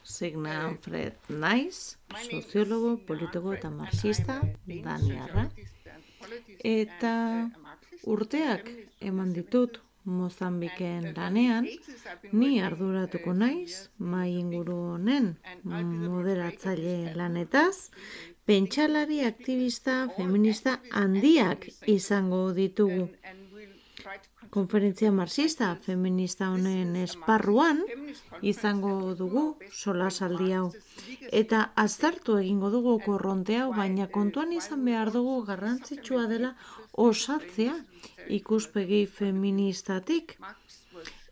Signa Fred naiz, soziologo, politiko eta marxista, daniarra. Eta urteak eman ditut Mozambiken lanean, ni arduratuko naiz, mai inguru honen moderatzaile lanetaz, pentsalari aktivista feminista handiak izango ditugu. Konferentzia marxista feminista honen esparruan izango dugu solasaldi hau. Eta aztertu egingo dugu korronte hau, baina kontuan izan behar dugu garrantzitsua dela osatzea ikuspegi feministatik.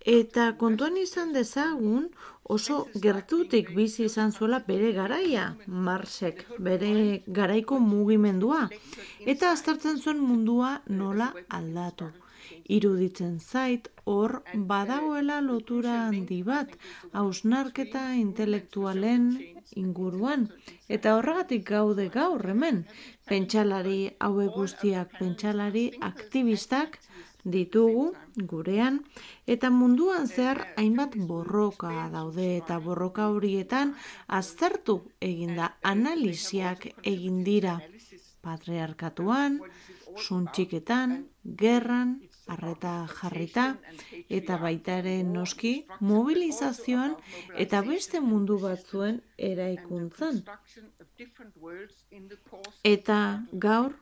Eta kontuan izan dezagun oso gertutik bizi izan zuela bere garaia, Marxek, bere garaiko mugimendua, eta aztertzen zuen mundua nola aldatu. Iruditzen zait, hor badagoela lotura handi bat, hausnarketa intelektualen inguruan. Eta horregatik gaude gaur hemen, pentsalari hauek guztiak, pentsalari aktivistak ditugu gurean, eta munduan zehar hainbat borroka daude, eta borroka horietan aztertu eginda, analisiak egin dira, patriarkatuan, suntxiketan, gerran, arreta jarrita, eta baita ere noski mobilizazioan eta beste mundu batzuen eraikuntzan. Eta gaur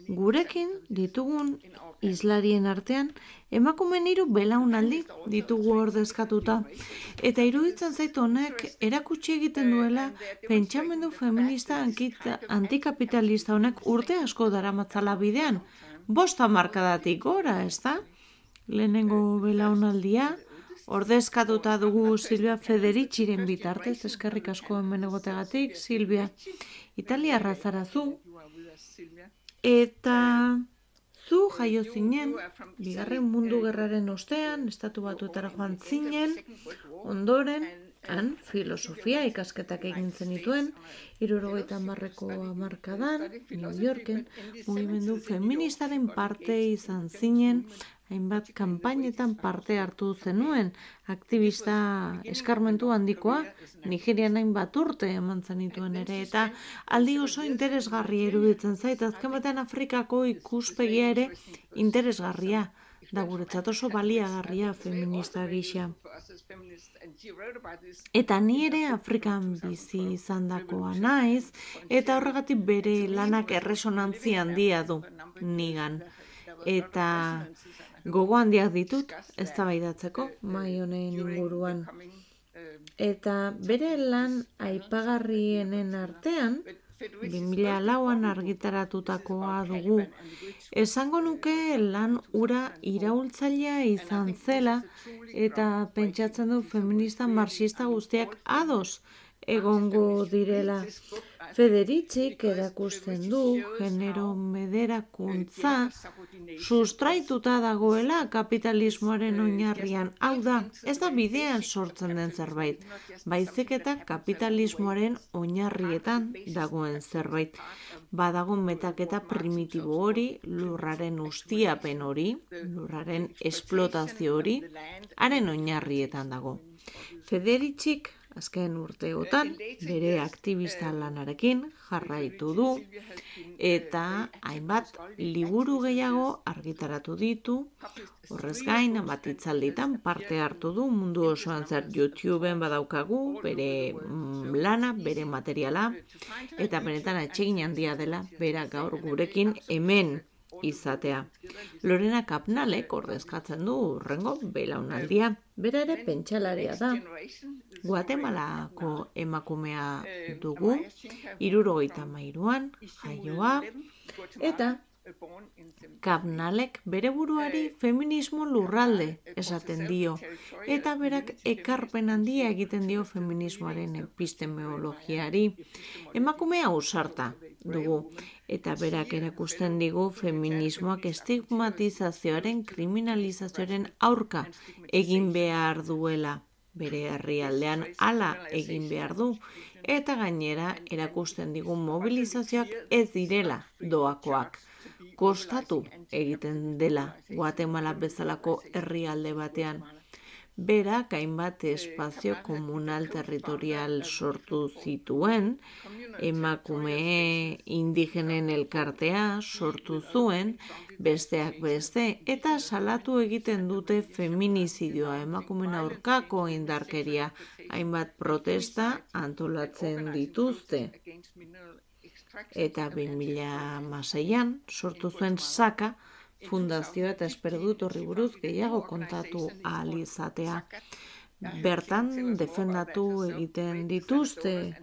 gurekin ditugun islarien artean emakumeen 3 belaunaldi ditugu ordezkatuta. Eta iruditzen zait honek erakutsi egiten duela pentsamendu feminista antikapitalista honek urte asko daramatzala bidean. 5 hamarkadatik gora, ezta? Lehenengo belaunaldia ordezkatuta dugu Silvia Federiciren bitartez, eskerrik asko hemen egoteagatik, Silvia. Italiarra zara zu. Eta zu jaio zinen, Bigarren Mundu Gerraren ostean, Estatu Batuetara joan zinen, ondoren, han filosofia ikasketak egin zenituen, 70ko hamarkadan, New Yorken, mugimendu feministaren parte izan zinen, hainbat kanpainetan parte hartu zenuen, aktivista eskarmentu handikoa, Nigerian hainbat urte eman zenituen ere, eta aldi oso interesgarria iruditzen zait, azken batean Afrikako ikuspegia ere interesgarria, da guretzat oso baliagarria feminista gisa. Eta ni ere Afrikan bizi izandakoa naiz, eta horregatik bere lanak erresonantzia handia du nigan. Eta gogo handiak ditut eztabaidatzeko mai honen inguruan. Eta bere lan aipagarrienen artean, 2004an argitaratutakoa dugu. Esango nuke lan hura iraultzailea izan zela eta pentsatzen du feminista marxista guztiak ados egongo direla. Federicik erakusten du genero mederakuntza sustraituta dagoela kapitalismoaren oinarrian. Hau da, ez da bidean sortzen den zerbait, baizik eta kapitalismoaren oinarrietan dagoen zerbait. Badago metaketa primitibo hori, lurraren ustiapen hori, lurraren esplotazio hori, haren oinarrietan dago. Federicik azken urteotan bere aktivista lanarekin jarraitu du eta hainbat liburu gehiago argitaratu ditu. Horrez gain, hainbat hitzalditan parte hartu du mundu osoan zer YouTubeen badaukagu, bere lana, bere materiala, eta benetan atsegin handia dela bera gaur gurekin hemen izatea. Lorena Kapnalek ordezkatzen du hurrengo belaunaldia. Bera ere pentsalaria da. Guatemalako emakumea dugu, 73an jaioa, eta Kapnalek bere buruari feminismo lurralde esaten dio, eta berak ekarpen handia egiten dio feminismoaren epistemologiari. Emakumea ausarta dugu, eta berak erakusten digu feminismoak estigmatizazioaren, kriminalizazioaren aurka egin behar duela. Bere herrialdean hala egin behar du, eta gainera erakusten digu mobilizazioak ez direla doakoak. Kostatu egiten dela Guatemala bezalako herrialde batean. berak hainbat espazio komunal territorial sortu zituen, emakume indigenen elkartea sortu zuen, besteak beste, eta salatu egiten dute feminizidioa, emakumeen aurkako indarkeria, hainbat protesta antolatzen dituzte. Eta 2006an sortu zuen Saka fundazioa eta espero dut horri buruz gehiago kontatu ahal izatea. Bertan defendatu egiten dituzte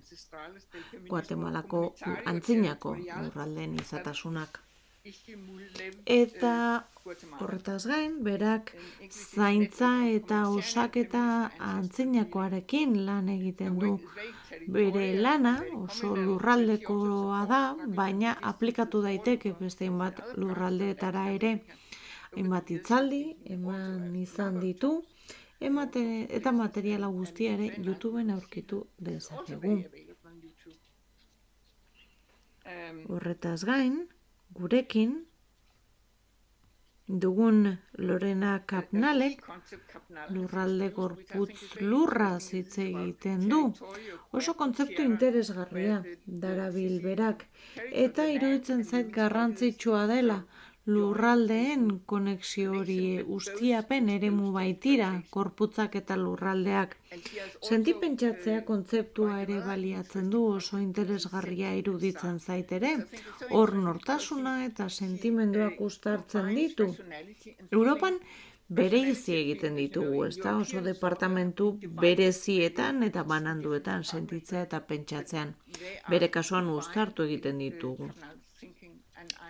Guatemalako antzinako lurraldeen izatasunak. Eta horretaz gain, berak zaintza eta osaketa antzinakoarekin lan egiten du. Bere lana oso lurraldekoa da, baina aplikatu daiteke beste hainbat lurraldeetara ere. Hainbat hitzaldi eman izan ditu, eta materiala guztia ere YouTubeen aurkitu dezakegu. Horretaz gain, gurekin dugun Lorena Kapnalek lurralde gorputz lurra hitz egiten du. Oso kontzeptu interesgarria darabil berak, eta iruditzen zait garrantzitsua dela lurraldeen konexio hori ustiapen eremu baitira, korputzak eta lurraldeak. Sentipentsatzea kontzeptua ere baliatzen du, oso interesgarria iruditzen zait ere, hor nortasuna eta sentimenduak uztartzen ditu. Europan bereizi egiten ditugu, ezta? Oso departamentu berezietan eta bananduetan sentitzea eta pentsatzean. Bere kasuan uztartu egiten ditugu.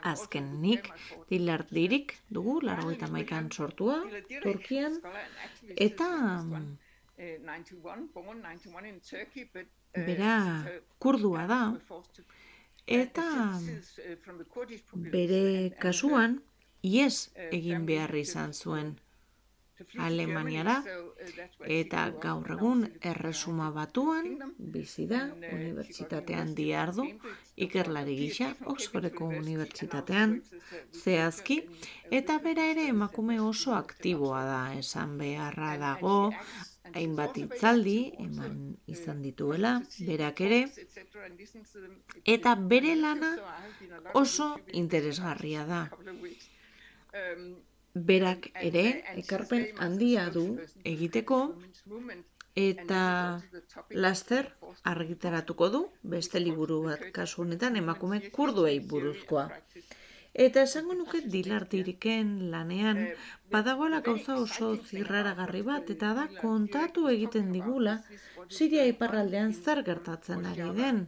Azkenik, Dilardirik dugu, 81an sortua, Turkian, eta bera kurdua da, eta bere kasuan ihes egin behar izan zuen Alemaniara, eta gaur egun Erresuma Batuan bizi da, unibertsitatean dihardu, ikerlari gisa, Oxfordeko unibertsitatean, zehazki, eta bera ere emakume oso aktiboa da, esan beharra dago, hainbat hitzaldi eman izan dituela, berak ere, eta bere lana oso interesgarria da. Berak ere ekarpen handia du egiteko eta laster argitaratuko du beste liburu bat, kasu honetan emakume kurduei buruzkoa. Eta esango nuke Dilardiriken lanean badagoela gauza oso zirraragarri bat, eta da kontatu egiten digula Siria iparraldean zer gertatzen ari den.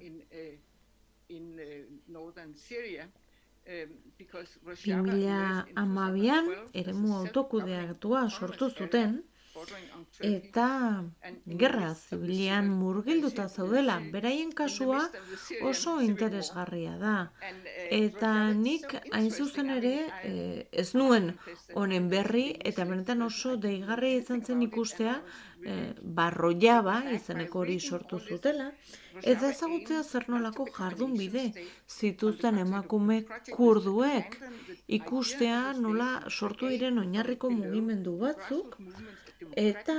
2012an eremu autokudeatua sortu zuten, eta gerra zibilian murgilduta zaudela. Beraien kasua oso interesgarria da. Eta nik hain zuzen ere ez nuen honen berri, eta benetan oso deigarria izan zen ikustea Barroiaba izeneko hori sortu zutela, eta ezagutzea zer nolako jardun bide zituzten emakume kurduek, ikustea nola sortu diren oinarriko mugimendu batzuk, eta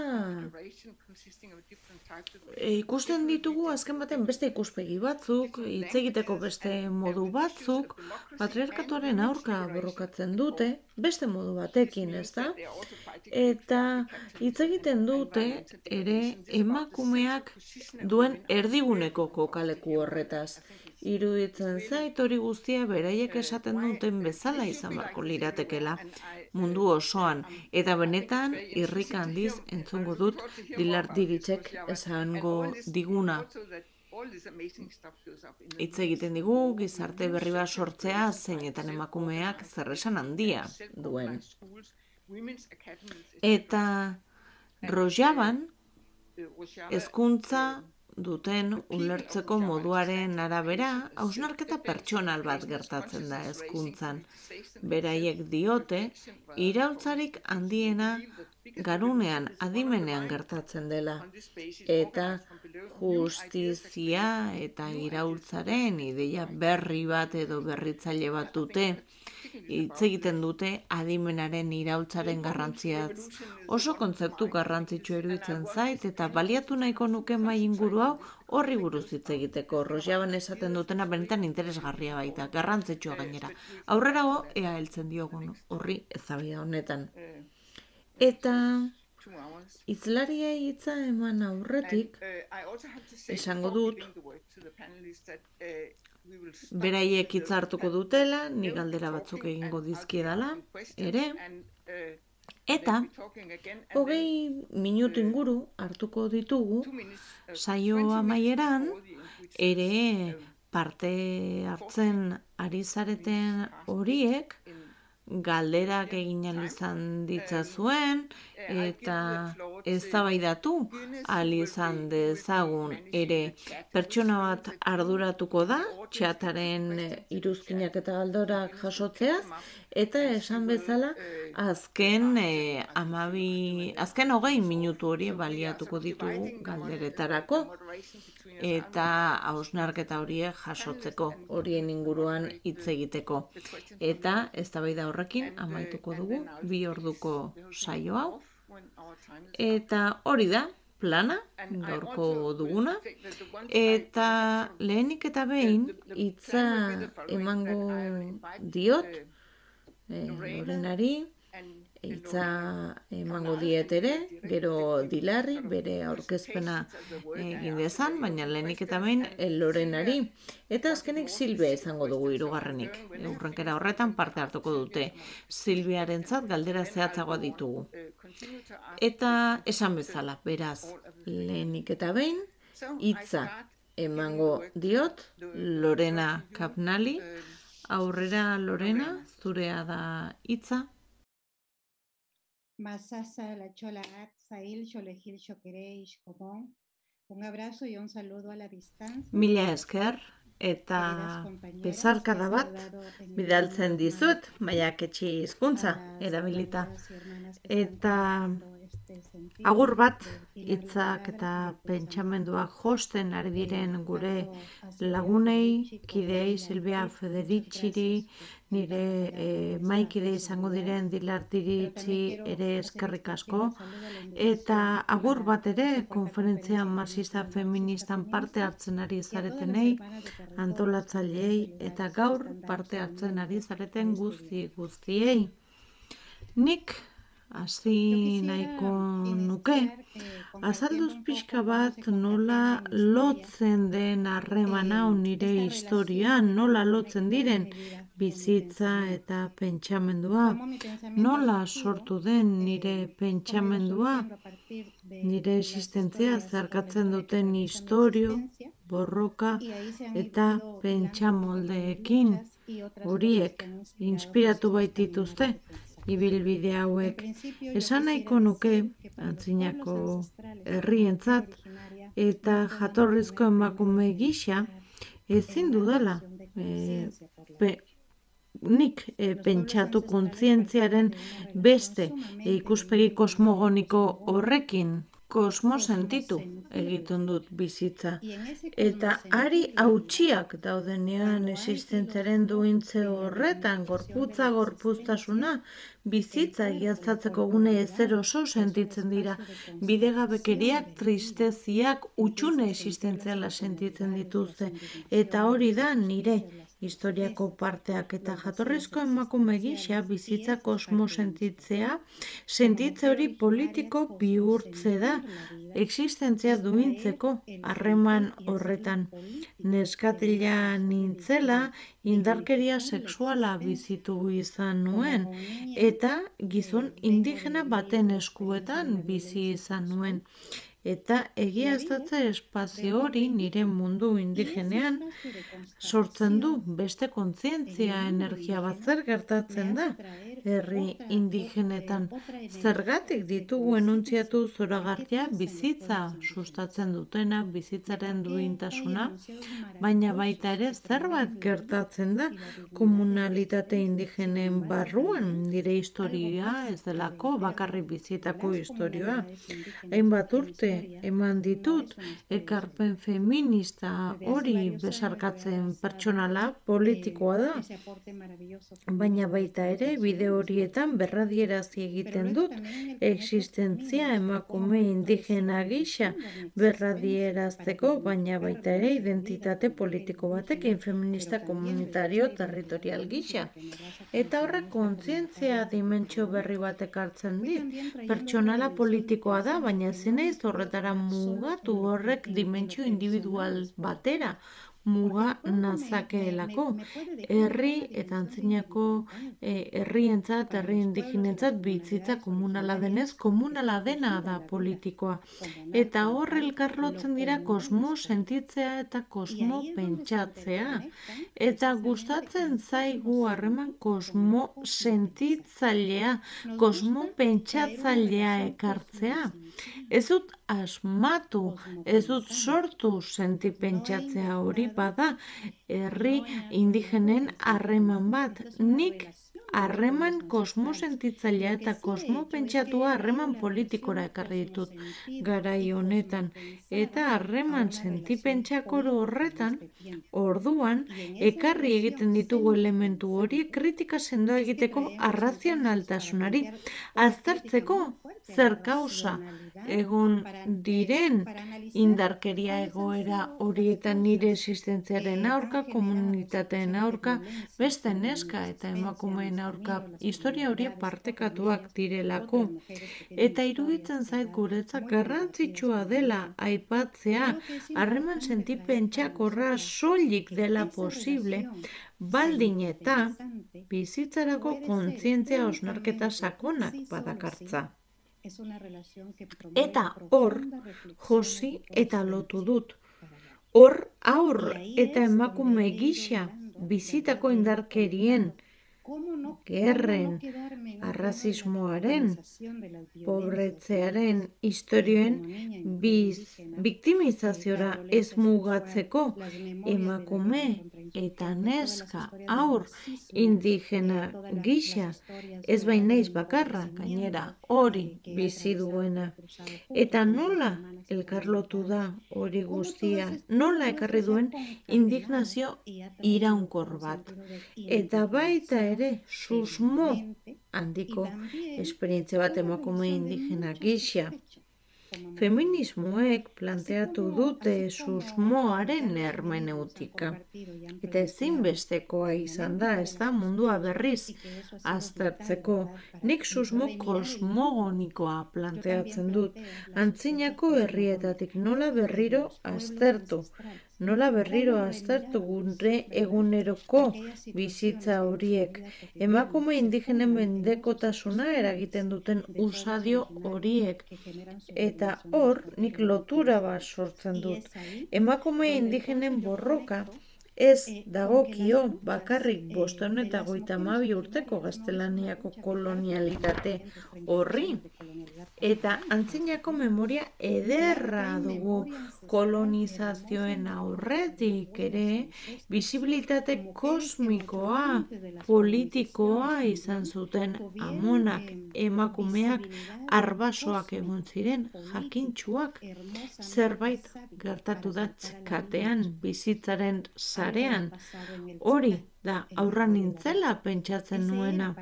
ikusten ditugu azken baten beste ikuspegi batzuk, hitz egiteko beste modu batzuk, patriarkatuaren aurka borrokatzen dute, beste modu batekin, ezta? Eta hitz egiten dute ere emakumeak duen erdiguneko kokaleku horretaz. Iruditzen zait hori guztia beraiek esaten duten bezala izan beharko liratekela mundu osoan, eta benetan irrik handiz entzungo dut Dilardiritzek esango diguna. Hitz egiten digu gizarte berri bat sortzea zeinetan emakumeak zerresan handia duen. Eta Rojaban hezkuntza duten ulertzeko moduaren arabera, hausnarketa pertsonal bat gertatzen da hezkuntzan. Beraiek diote, iraultzarik handiena garunean, adimenean gertatzen dela. Eta justizia eta iraultzaren ideia berri bat edo berritzaile bat dute. Hitz egiten dute adimenaren iraultzaren garrantziaz. Oso kontzeptu garrantzitsu iruditzen zait eta baliatu nahiko nuke mai inguru hau horri buruz hitz egiteko. Rojjaban esaten dutena benetan interesgarria baita, garrantzitsua gainera. Aurrerago ea heltzen diogun horri eztabaida honetan. Eta hizlariei hitza eman aurretik esango dut beraiek hitza hartuko dutela, ni galdera batzuk egingo dizkiedala ere, eta 20 minutu inguru hartuko ditugu saio amaieran ere parte hartzen ari zareten horiek galderak egin ahal izan ditzazuen eta eztabaidatu ahal izan dezagun ere. Pertsona bat arduratuko da txataren iruzkinak eta galdorak jasotzeaz eta esan bezala azken 20 minutu hori baliatuko ditugu galderetarako eta hausnarketa horiek jasotzeko, horien inguruan hitz egiteko. Eta eztabaida horrekin amaituko dugu 2 orduko saio hau. Eta hori da plana gaurko duguna. Eta lehenik eta behin hitza emango diot Lorenari, hitza emango diet ere, gero Dilarri bere aurkezpena egin dezan, baina lehenik eta behin Lorenari. Eta azkenik Silvia izango dugu hirugarrenik. Hurrenkera horretan parte hartuko dute. Silviarentzat galdera zehatzagoa ditugu. Eta esan bezala, beraz, lehenik eta behin hitza emango diot Lorena Kapnali. Aurrera Lorena, zurea da hitza. Masasa la chola at sail cholejil chokere ishkomon. Un abrazo y un saludo a la distancia. Mila esker eta besarkada bat bidaltzen dizut, maiaketxi hizkuntza erabilita. Eta agur bat hitzak eta pentsamenduak josten ari diren gure lagunei, kideei, Silvia Federiciri, nire maikide izango diren Dilartiritzi ere eskerrik asko, eta agur bat ere konferentzia marxista feministan parte hartzen ari zaretenei, antolatzaileei eta gaur parte hartzen ari zareten guztiei. Nik hasi nahiko nuke, azalduz pixka bat nola lotzen den harreman hau nire historian, nola lotzen diren bizitza eta pentsamendua, nola sortu den nire pentsamendua, nire existentzia zeharkatzen duten istorio, borroka eta pentsamoldeekin, horiek inspiratu baitituzte. Ibilbide hauek esan nahiko nuke antzinako herrientzat eta jatorrizko emakume gisa ezin dudala nik pentsatu kontzientziaren beste ikuspegi kosmogoniko horrekin kosmosentitu egiten dut bizitza. Eta ari hautsiak daudenean existentziaren duintze horretan, gorputza, gorpuztasuna, bizitza egiaztatzeko gune ezer oso sentitzen dira. Bidegabekeriak, tristeziak, utxune existentziala sentitzen dituzte. Eta hori da nire historiako parteak eta jatorrizko emakume gisa bizitza kosmosentitzea, sentitze hori politiko bihurtze da, existentzia duintzeko harreman horretan. Neskatila nintzela, indarkeria sexuala bizitu izan nuen, eta gizon indigena baten eskuetan bizi izan nuen. Eta egiaztatze espazio hori nire mundu indigenean sortzen du beste kontzientzia energia bat zer gertatzen da herri indigenetan. Zergatik ditugu enuntziatu zoragarria bizitza sustatzen dutena, bizitzaren duintasuna, baina baita ere zerbait gertatzen da komunalitate indigenen barruan nire historia ez delako bakarrik bizitako historia. Hainbat urte eman ditut, ekarpen feminista hori besarkatzen pertsonala politikoa da. Baina baita ere, bide horietan berradierazi egiten dut, existentzia emakume indigena gisa berradierazteko, baina baita ere identitate politiko batekin feminista komunitario territorial gisa. Eta horrek kontzientzia dimentsio berri batek hartzen dit. Pertsonala politikoa da, baina ezin naiz horretara mugatu horrek dimentsio individual batera. Muga nazakeelako. Herri eta antzinako herrientzat, herri indigenentzat bizitza komunala denez, komunala dena da politikoa. Eta hor elkarlotzen dira kosmo sentitzea eta kosmo pentsatzea. Eta gustatzen zaigu harreman kosmo sentitzailea, kosmo pentsatzailea ekartzea. Ez dut asmatu, ez dut sortu sentipentsatzea hori bada herri indigenen harreman bat. Nik harreman kosmo sentitzailea eta kosmo pentsatua harreman politikora ekarri ditut garai honetan. Eta harreman sentipentsakoro horretan, orduan, ekarri egiten ditugu elementu horiek kritika sendoa egiteko arrazionaltasunari, aztertzeko zer kausa egon diren indarkeria egoera horietan nire existentziaren aurka, komunitateen aurka, beste neska eta emakumeen aurka, historia horiek partekatuak direlako. Eta iruditzen zait guretzat garrantzitsua dela aipatzea, harreman sentipentsakorra soilik dela posible, baldin eta bizitzarako kontzientzia hausnarketa sakonak badakartza. Eta hor, josi eta lotu dut. Hor, aur eta emakume gisa bizitako indarkerien, gerren, arrazismoaren, pobretzearen, historioen biktimizaziora ez mugatzeko emakume eta neska aur indigena gisa, ez bain naiz bakarra, gainera hori bizi duena. Eta nola elkarlotu da hori guztia, nola ekarri duen indignazio iraunkor bat. Eta baita ere susmo handiko esperientzia bat emakume indigena gisa. Feminismoek planteatu dute susmoaren hermeneutika. Eta ezinbestekoa izan da, ez da mundua berriz aztertzeko. Nik susmo kosmogonikoa planteatzen dut. Antzinako herrietatik nola berriro aztertu. Nola berriro aztertu gure eguneroko bizitza horiek. Emakume indigenen mendekotasuna eragiten duten usadio horiek. Eta hor, nik lotura bat sortzen dut. Emakume indigenen borroka ez dagokio bakarrik 552 urteko gaztelaniako kolonialitate horri. Eta antzinako memoria ederra dugu kolonizazioen aurretik ere, bisibilitate kosmikoa, politikoa izan zuten amonak, emakumeak, arbasoak egon ziren, jakintsuak, zerbait gertatu da txekatean, bizitzaren sarean, hori da aurra nintzela pentsatzen nuena.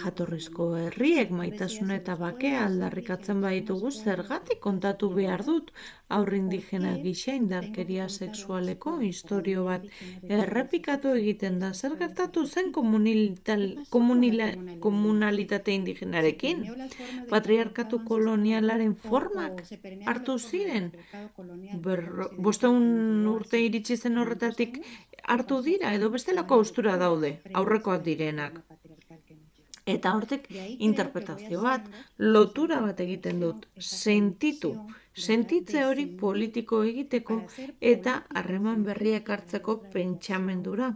Jatorrizko herriek maitasuna eta bakea aldarrikatzen baditugu zergatik kontatu behar dut aur indigena gisa indarkeria sexualeko historio bat errepikatu egiten da. Zer gertatu zen komunalitate indigenarekin? Patriarkatu kolonialaren formak hartu ziren? 500 urte iritsi zen horretatik hartu dira, edo bestelako haustura daude, aurrekoak direnak. Eta hortek interpretazio bat, lotura bat egiten dut, sentitze hori politiko egiteko eta harreman berriak hartzeko pentsamendura,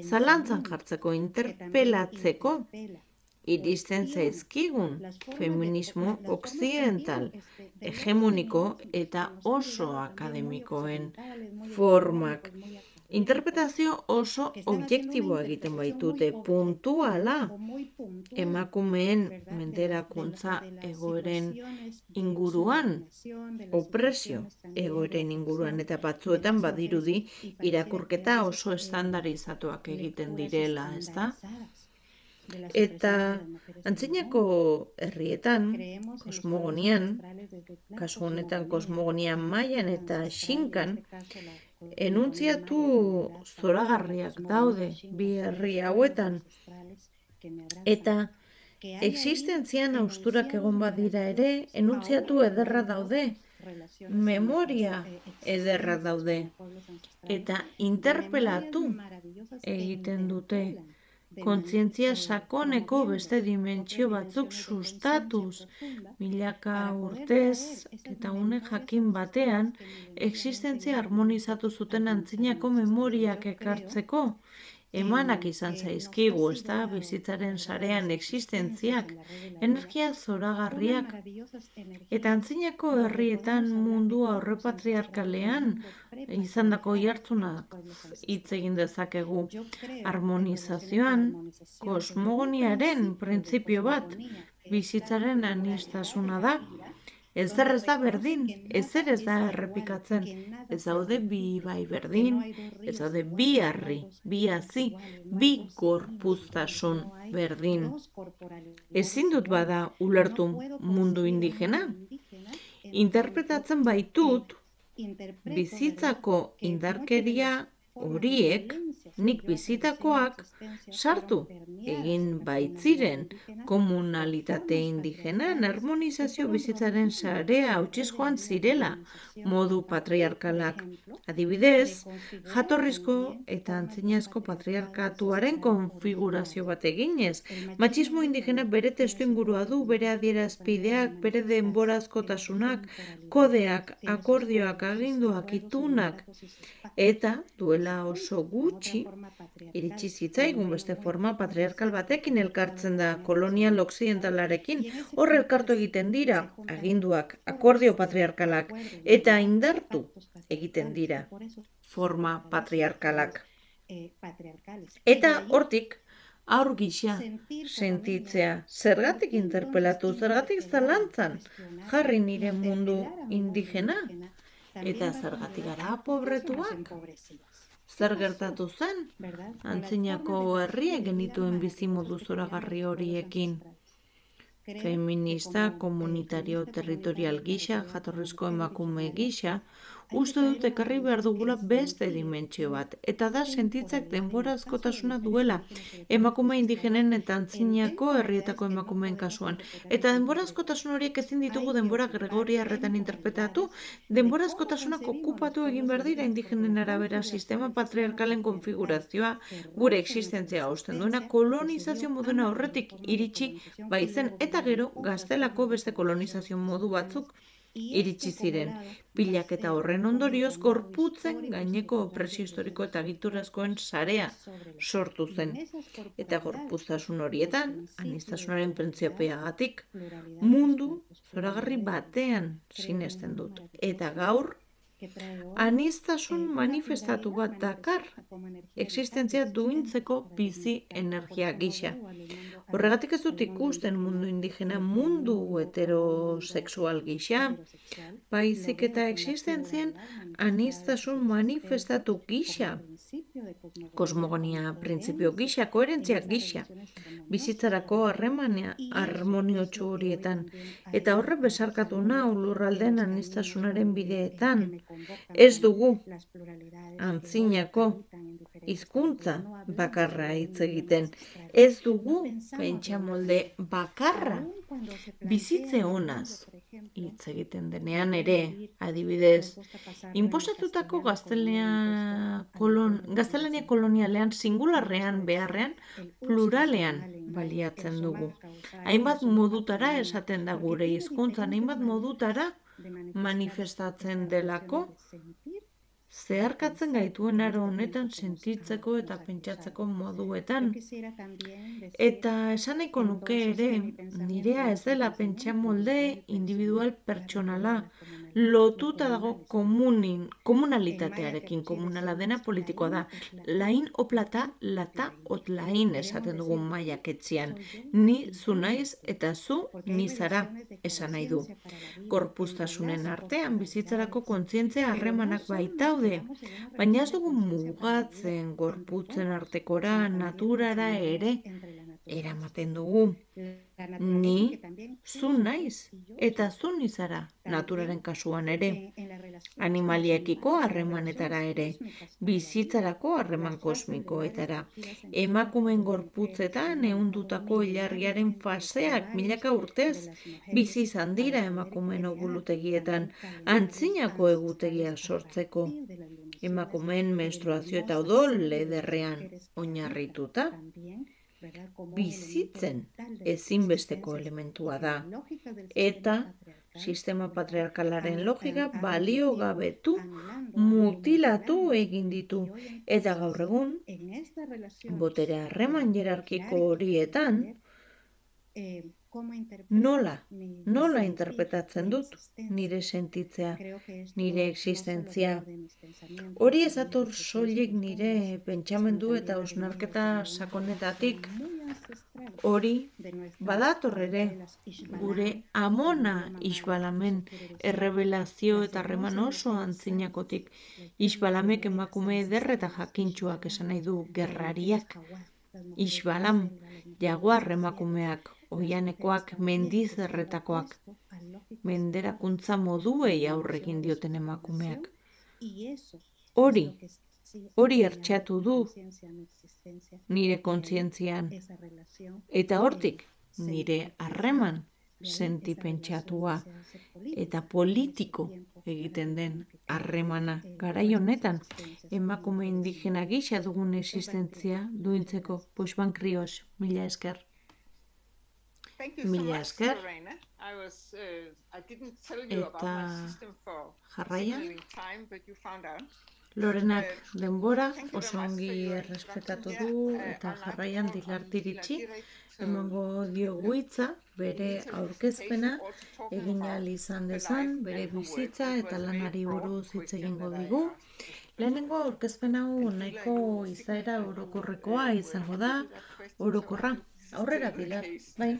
zalantzan jartzeko, interpelatzeko, iristen zaizkigun feminismo occidental, hegemoniko eta oso akademikoen formak. interpretazio oso objektiboa egiten baitute, puntuala, emakumeen menderakuntza egoeren inguruan, opresio egoeren inguruan, eta batzuetan badirudi irakurketa oso estandarizatuak egiten direla, ezta? Eta antzinako herrietan, kosmogonian, kasu honetan kosmogonia mailan eta xinkan, enuntziatu zoragarriak daude bi herri hauetan, eta existentzian hausturak egon badira ere, enuntziatu ederra daude, memoria ederra daude, eta interpelatu egiten dute, kontzientzia sakoneko beste dimentsio batzuk sustatuz, milaka urtez eta une jakin batean, existentzia harmonizatu zuten antzinako memoriak ekartzeko, emanak izan zaizkigu, ez da, bizitzaren sarean existentziak, energia zoragarriak, eta antzinako herrietan mundu aurrepatriarkalean izandako jartzunak hitz egin dezakegu. Harmonizazioan, kosmogoniaren printzipio bat, bizitzaren aniztasuna da. Ezer ez da berdin, ezer ez da errepikatzen, ez daude bi bai berdin, ez daude bi harri, bi hazi, bi gorpuztasun berdin. Ezin dut bada ulertu mundu indigena. Interpretatzen baitut, bizitzako indarkeria horiek, nik bizitakoak, sartu egin baitziren komunalitate indigenan, harmonizazio bizitzaren sarea hautsiz joan zirela modu patriarkalak. Adibidez, jatorrizko eta antzinazko patriarkatuaren konfigurazio bat eginez, matxismo indigena bere testu ingurua du, bere adierazpideak, bere denborazkotasunak, kodeak, akordioak, aginduak, itunak, eta duela oso gutxi, iritsi zitzaigun beste forma patriarkal batekin elkartzen da, kolonial okzidentalarekin, hor elkartu egiten dira, aginduak, akordio patriarkalak, eta indartu egiten dira, forma patriarkalak. Eta hortik, aur gisa sentitzea, zergatik interpelatu, zergatik zalantzan, jarri nire mundu indigena, eta zergatik gara pobretuak. Zer gertatu zen, antzinako herriek genituen bizimodu zoragarri horiekin. Feminista, komunitario, territorial gisa, jatorrizko emakume gisa, uste dut ekarri behar dugula beste dimentsio bat, eta da sentitzak denborazkotasuna duela, emakume indigenen eta antzinako herrietako emakumeen kasuan. Eta denborazkotasun horiek ezin ditugu denbora gregoriarretan interpretatu, denborazkotasunak okupatu egin behar dira indigenen arabera sistema patriarkalen konfigurazioa, gure existentzia hausten duena, kolonizazio moduna horretik iritsi baitzen, eta gero gaztelako beste kolonizazio modu batzuk iritsi ziren. Pilak eta horren ondorioz gorputzen gaineko opresio historiko eta egiturazkoen sarea sortu zen. Eta gorpuztasun horietan, aniztasunaren printziopeagatik, mundu zoragarri batean sinesten dut. Eta gaur, aniztasun manifestatu bat dakar, existentzia duintzeko bizi energia gisa. Horregatik ez dut ikusten mundu indigena mundu heterosexual gisa, baizik eta existentzien aniztasun manifestatu gisa, kosmogonia printzipio gisa, koherentzia gisa, bizitzarako harmoniotsu horietan, eta horre besarkatu nau lurralden aniztasunaren bideetan. Ez dugu antzinako hizkuntza bakarra hitz egiten. Ez dugu pentsamolde bakarra bizitze honaz hitz egiten denean ere, adibidez, inposatutako gaztelania kolonialean singularrean beharrean pluralean baliatzen dugu. Hainbat modutara esaten da gure hizkuntzan, hainbat modutara manifestatzen delako, zeharkatzen gaituen aro honetan sentitzeko eta pentsatzeko moduetan. Eta esan nahiko nuke ere, nirea ez dela pentsamolde individual pertsonala, lotuta dago komunalitatearekin, komunala dena politikoa da. Lain oplata, lata ot lain esaten dugun maiak etzian. Ni zu naiz eta zu ni zara esan nahi du. Gorpuztasunen artean bizitzarako kontzientzia harremanak baitaude, baina ez dugu mugatzen gorputzen artekora, naturara ere eramaten dugu. Ni zu naiz eta zu ni zara naturaren kasuan ere. Animaliekiko harremanetara ere, bizitzarako harreman kosmikoetara. Emakumeen gorputzetan ehundutako ilargiaren faseak milaka urtez bizi izan dira emakumeen ogulutegietan, antzinako egutegiak sortzeko. Emakumeen menstruazio eta odol ederrean oinarrituta. Bizitzen ezinbesteko elementua da, eta sistema patriarkalaren logika baliogabetu, mutilatu egin ditu, eta gaur egun, botere harreman hierarkiko horietan, nola interpretatzen dut nire sentitzea, nire existentzia. Hori ez dator soilik nire pentsamendu eta hausnarketa sakonetatik. Hori badator ere gure Amona Isbalamen errebelazio eta harreman oso antzinakotik. Isbalamek emakume eder eta jakintsuak esan nahi du gerrariak. Isbalam, jaguar emakumeak, oianekoak, mendizerretakoak, menderakuntza moduei aurrekin dioten emakumeak. Hori ertxatu du nire kontzientzian, eta hortik nire harreman sentipentsatua eta politiko egiten den harremana. Garai honetan, emakume indigena gisa dugun existentzia duintzeko. Puixban krios, mila esker. Mila esker. Eta jarraian, Lorenak denbora oso ongi errespetatu du eta jarraian dilartiritzi emango diogu hitza bere aurkezpena egin ahal izan dezan, bere bizitza eta lanari buruz hitz egingo digu. Lehenengo aurkezpen hau nahiko izaera orokorrekoa izango da, orokorra. Aurrera Pilar, bai.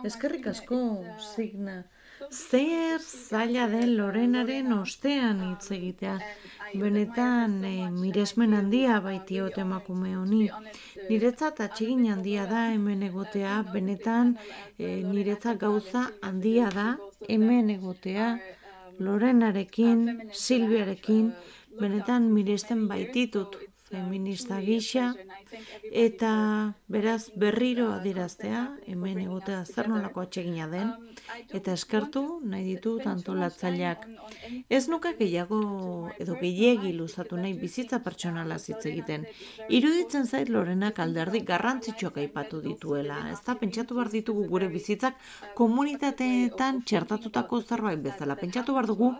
Eskerrik asko, Signa. Zer zaila den Lorenaren ostean hitz egitea. Benetan miresmen handia baitiot emakume honi. Niretzat atsegin handia da hemen egotea, benetan niretzat gauza handia da hemen egotea. Lorenarekin, Silviarekin, benetan miresten baititut feminista gisa, eta beraz berriro adieraztea, hemen egotea zer nolako atsegina den, eta eskertu nahi ditut antolatzaileak. Ez nuke gehiago edo gehiegi luzatu nahi bizitza pertsonala hitz egiten. Iruditzen zait Lorenak alderdi garrantzitsuak aipatu dituela. Ez da pentsatu behar ditugu gure bizitzak komunitateetan txertatutako zerbait bezala. Pentsatu behar dugu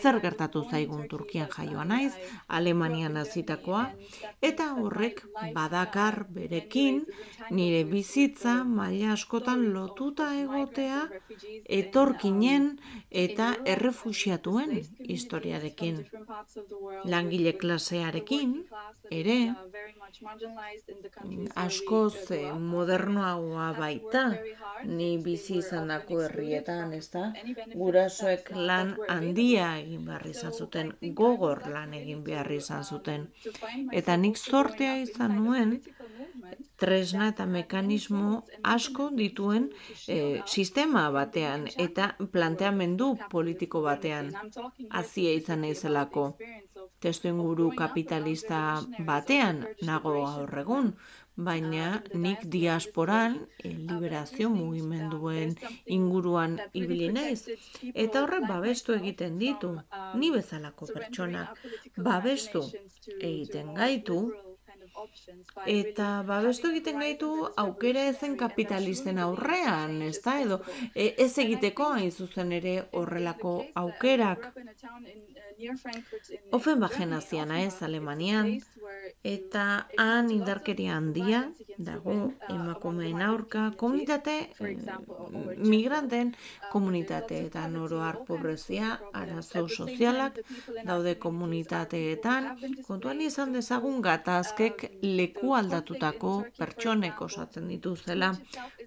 zer gertatu zaigun Turkian jaioa naiz, Alemanian hazitakoa, eta horrek badakar berekin nire bizitza maila askotan lotuta egotea etorkinen eta errefuxiatuen historiarekin. Langile klasearekin ere askoz modernoagoa baita ni bizi izandako herrietan, ezta? Gurasoek lan handia egin behar izan zuten, gogor lan egin behar izan zuten. Eta nik zortea izan nuen tresna eta mekanismo asko dituen sistema batean eta planteamendu politiko batean hazia izan naizelako. Testuinguru kapitalista batean nago gaur egun, baina nik diasporan liberazio mugimenduen inguruan ibili naiz. Eta horrek babestu egiten ditu, ni bezalako pertsonak babestu egiten gaitu, Eta babestu egiten gaitu aukera ezen kapitalisten aurrean, ez da, edo ez egiteko hain zuzen ere horrelako aukerak. Offenbachen hazian ez Alemanian, eta han indarkeria handia dago emakumeen aurka, komunitate, migranten komunitateetan oroar pobrezia, arazo sozialak, daude komunitateetan, kontuan izan dezagun gatazkek leku aldatutako pertsonek osatzen dituzela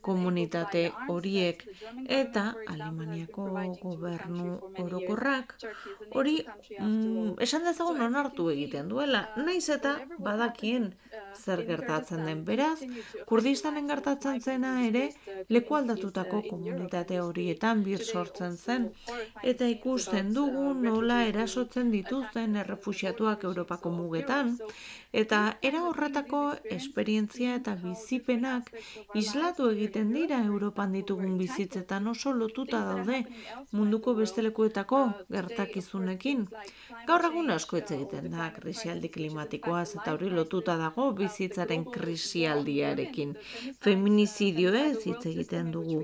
komunitate horiek, eta Alemaniako gobernu orokorrak hori esan dezagun onartu egiten duela, naiz eta badakien zer gertatzen den. Beraz, Kurdistanen gertatzen zena ere leku aldatutako komunitate horietan bir sortzen zen, eta ikusten dugu nola erasotzen dituzten errefuxiatuak Europako mugetan, eta era horretako esperientzia eta bizipenak islatu egiten dira Europan ditugun bizitzetan, oso lotuta daude munduko beste lekuetako gertakizunekin. Gaur egun asko hitz egiten da krisialdi klimatikoaz, eta hori lotuta dago bizitzaren krisialdiarekin. Feminizidioez hitz egiten dugu.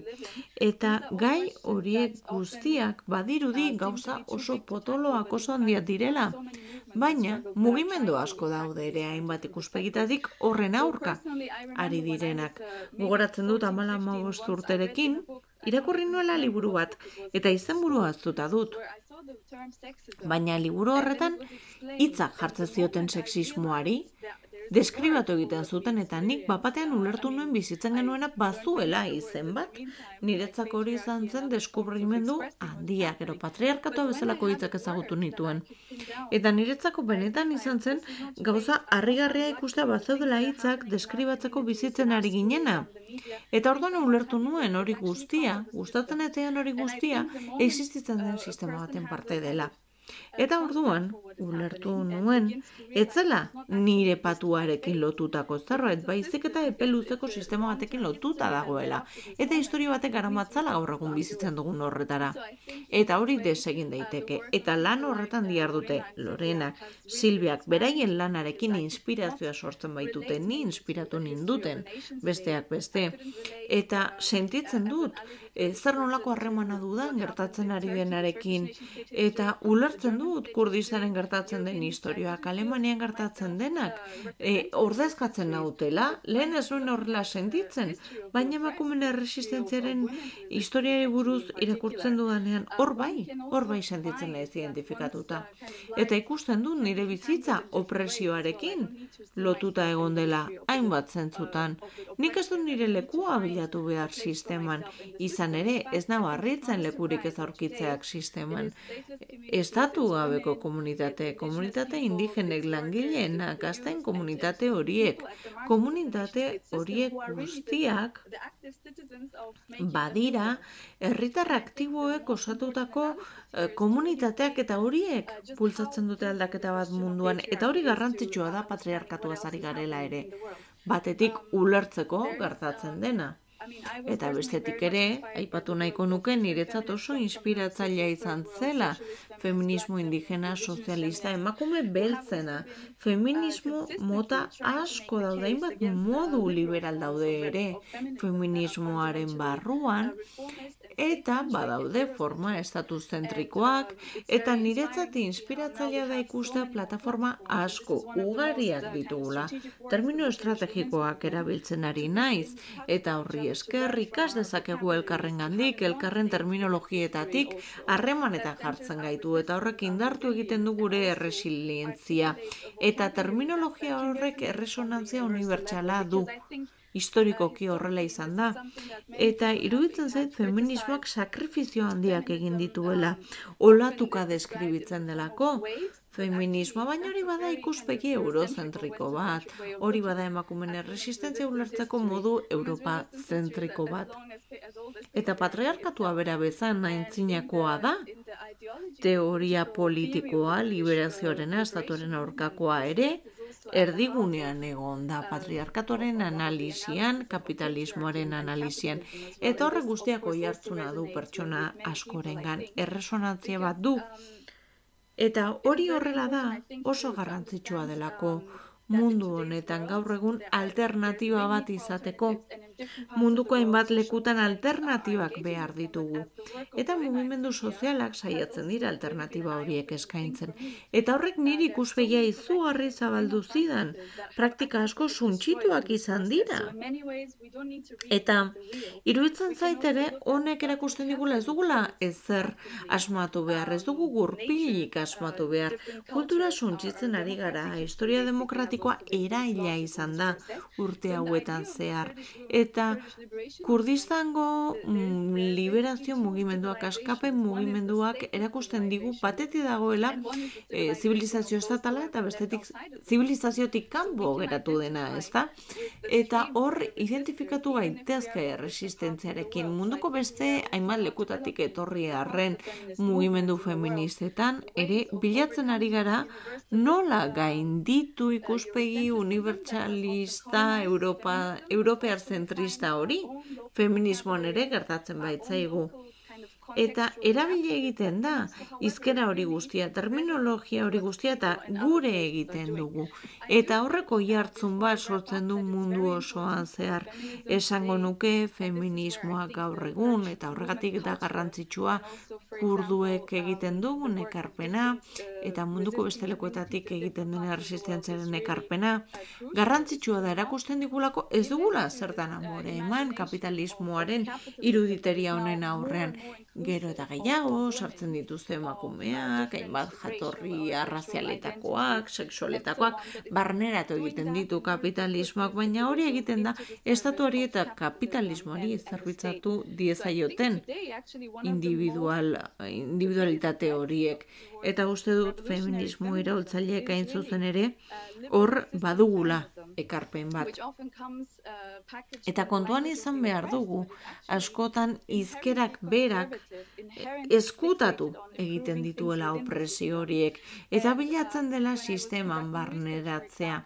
Eta gai horiek guztiak badirudi gauza oso potoloak oso handiak direla, baina mugimendu asko daude ere hainbat ikuspegitatik horren aurka ari direnak. Gogoratzen dut 15 urterekin, irakurri nuela liburu bat, eta izenburua ahaztuta dut. Baina liburu horretan hitzak jartzen zioten sexismoari, deskribatu egiten zuten, eta nik bapatean ulertu nuen bizitzen genuena bazuela izen bat. Niretzako hori izan zen deskubrimendu handia, gero patriarkatua bezalako hitzak ezagutu nituen. Eta niretzako benetan izan zen gauza harrigarria ikustea bazeudela hitzak deskribatzeko bizitzen ari ginena. Eta orduan ulertu nuen hori guztia, gustatzen etzean hori guztia, existitzen den sistema baten parte dela. Eta orduan, ulertu nuen, etzela nire patuarekin lotutako zerbait, baizik eta epe luzeko sistema batekin lotuta dagoela. Eta historia batek garamatzala gaur egun bizitzen dugun horretara. Eta hori desegin daiteke. Eta lan horretan dihardute Lorenak, Silviak, beraien lanarekin inspirazioa sortzen baitute, ni inspiratu ninduten, besteak beste. Eta sentitzen dut, zer nolako harremana dudan gertatzen ari denarekin, eta ulertzen dut Kurdistanen gertatzen den historioak, Alemanian gertatzen denak, ordezkatzen nautela, lehen ez nuen horrela sentitzen, baina emakumeen erresistentziaren historiari buruz irakurtzen dudanean, hor bai sentitzen ez identifikatuta. Eta ikusten dut nire bizitza opresioarekin lotuta egon dela hainbat zentzutan. Nik ez dut nire lekua bilatu behar sisteman, izan ere ez nago harritzen lekurik ez aurkitzeak sisteman. Estatu gabeko komunitate indigenek langileenak, gazten komunitate horiek guztiak badira herritar aktiboek osatutako komunitateak, eta horiek bultzatzen dute aldaketa bat munduan, eta hori garrantzitsua da patriarkatuaz ari garela ere, batetik ulertzeko gertatzen dena. Eta bestetik ere, aipatu nahiko nuke niretzat oso inspiratzailea izan zela feminismo indigena sozialista emakume beltzena. Feminismo mota asko daude, hainbat modu liberal daude ere feminismoaren barruan, eta badaude forma estatuzentrikoak, eta niretzat inspiratzailea da ikustea plataforma asko ugariak ditugula. Termino estrategikoak erabiltzen ari naiz, eta horri esker ikas dezakegu elkarrengandik, elkarren terminologietatik harremanetan jartzen gaitu, eta horrek indartu egiten du gure erresilientzia. Eta terminologia horrek erresonantzia unibertsala du. Historikoki horrela izan da. Eta iruditzen zait feminismoak sakrifizio handiak egin dituela, olatuka deskribitzen delako. Feminismoa, baina hori bada ikuspegi eurozentriko bat, hori bada emakumeen erresistentzia ulertzeko modu europazentriko bat. Eta patriarkatua bera bezan aintzinakoa da, teoria politikoa, liberazioarena, estatuaren aurkakoa ere, erdigunean egon da patriarkatuaren analisian, kapitalismoaren analisian, eta horrek guztiak oihartzuna du pertsona askorengan, erresonantzia bat du. Eta hori horrela da oso garrantzitsua delako mundu honetan gaur egun alternatiba bat izateko. Munduko hainbat lekutan alternatibak behar ditugu. Eta mugimendu sozialak saiatzen dira alternatiba horiek eskaintzen. Eta horrek niri ikuspegia izugarri zabaldu zidan. Praktika asko suntsituak izan dira. Eta iruditzen zait ere honek erakusten digula ez dugula ezer asmatu behar, ez dugu gurpilik asmatu behar. Kultura suntsitzen ari gara, historia demokratikoa eraila izan da urte hauetan zehar. Eta Kurdistango liberazio mugimenduak, askapen mugimenduak erakusten digu pateti dagoela zibilizazio estatala eta bestetik zibilizaziotik kanpo geratu dena, ezta? Eta hor identifikatu gaitezke resistentziarekin munduko beste hainbat lekutatik etorri arren mugimendu feministetan ere bilatzen ari gara nola gainditu ikuspegi unibertsalista europear zentrista hori, feminismoan ere gertatzen baitzaigu. Eta erabili egiten da, hizkera hori guztia, terminologia hori guztia eta gure egiten dugu. Eta horreko jartzun bat sortzen du mundu osoan zehar. Esango nuke feminismoa gaur egun eta horregatik da garrantzitsua kurduek egiten dugun ekarpena eta munduko beste lekuetatik egiten den resistentziaren ekarpena. Garrantzitsua da erakusten digulako ez dugula zertan amore eman kapitalismoaren iruditeria honen aurrean. Gero eta gehiago, sartzen dituzte emakumeak, hainbat jatorri arrazialetakoak, sexualetakoak, barneratu egiten ditu kapitalismoak, baina hori egiten da estatuari eta kapitalismoari zerbitzatu diezaioten individualitate horiek. Eta uste dut feminismo iraultzaileek hain zuzen ere hor badugula ekarpen bat. Eta kontuan izan behar dugu, askotan hizkerak berak eskutatu egiten dituela opresio horiek, eta bilatzen dela sisteman barneratzea.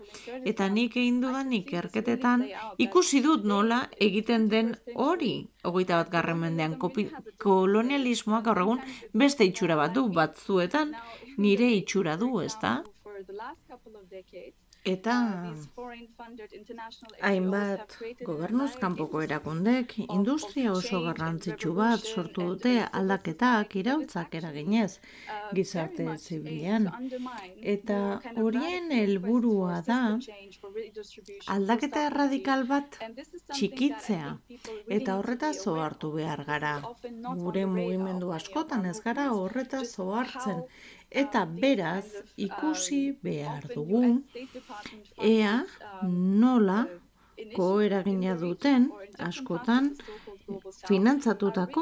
Eta nik egin dudan ikerketetan ikusi dut nola egiten den hori. 21. mendean kolonialismoak gaur egun beste itxura bat du, batzuetan nire itxura du, ezta? Eta hainbat gobernuz kanpoko erakundek industria oso garrantzitsu bat sortu dute aldaketak iraultzak eraginez gizarte zibilean. Eta horien helburua da aldaketa erradikal bat txikitzea. Eta horretaz ohartu behar gara. Gure mugimendu askotan ez gara horretaz ohartzen. Eta beraz ikusi behar dugu ea nola koeragina duten askotan finantzatutako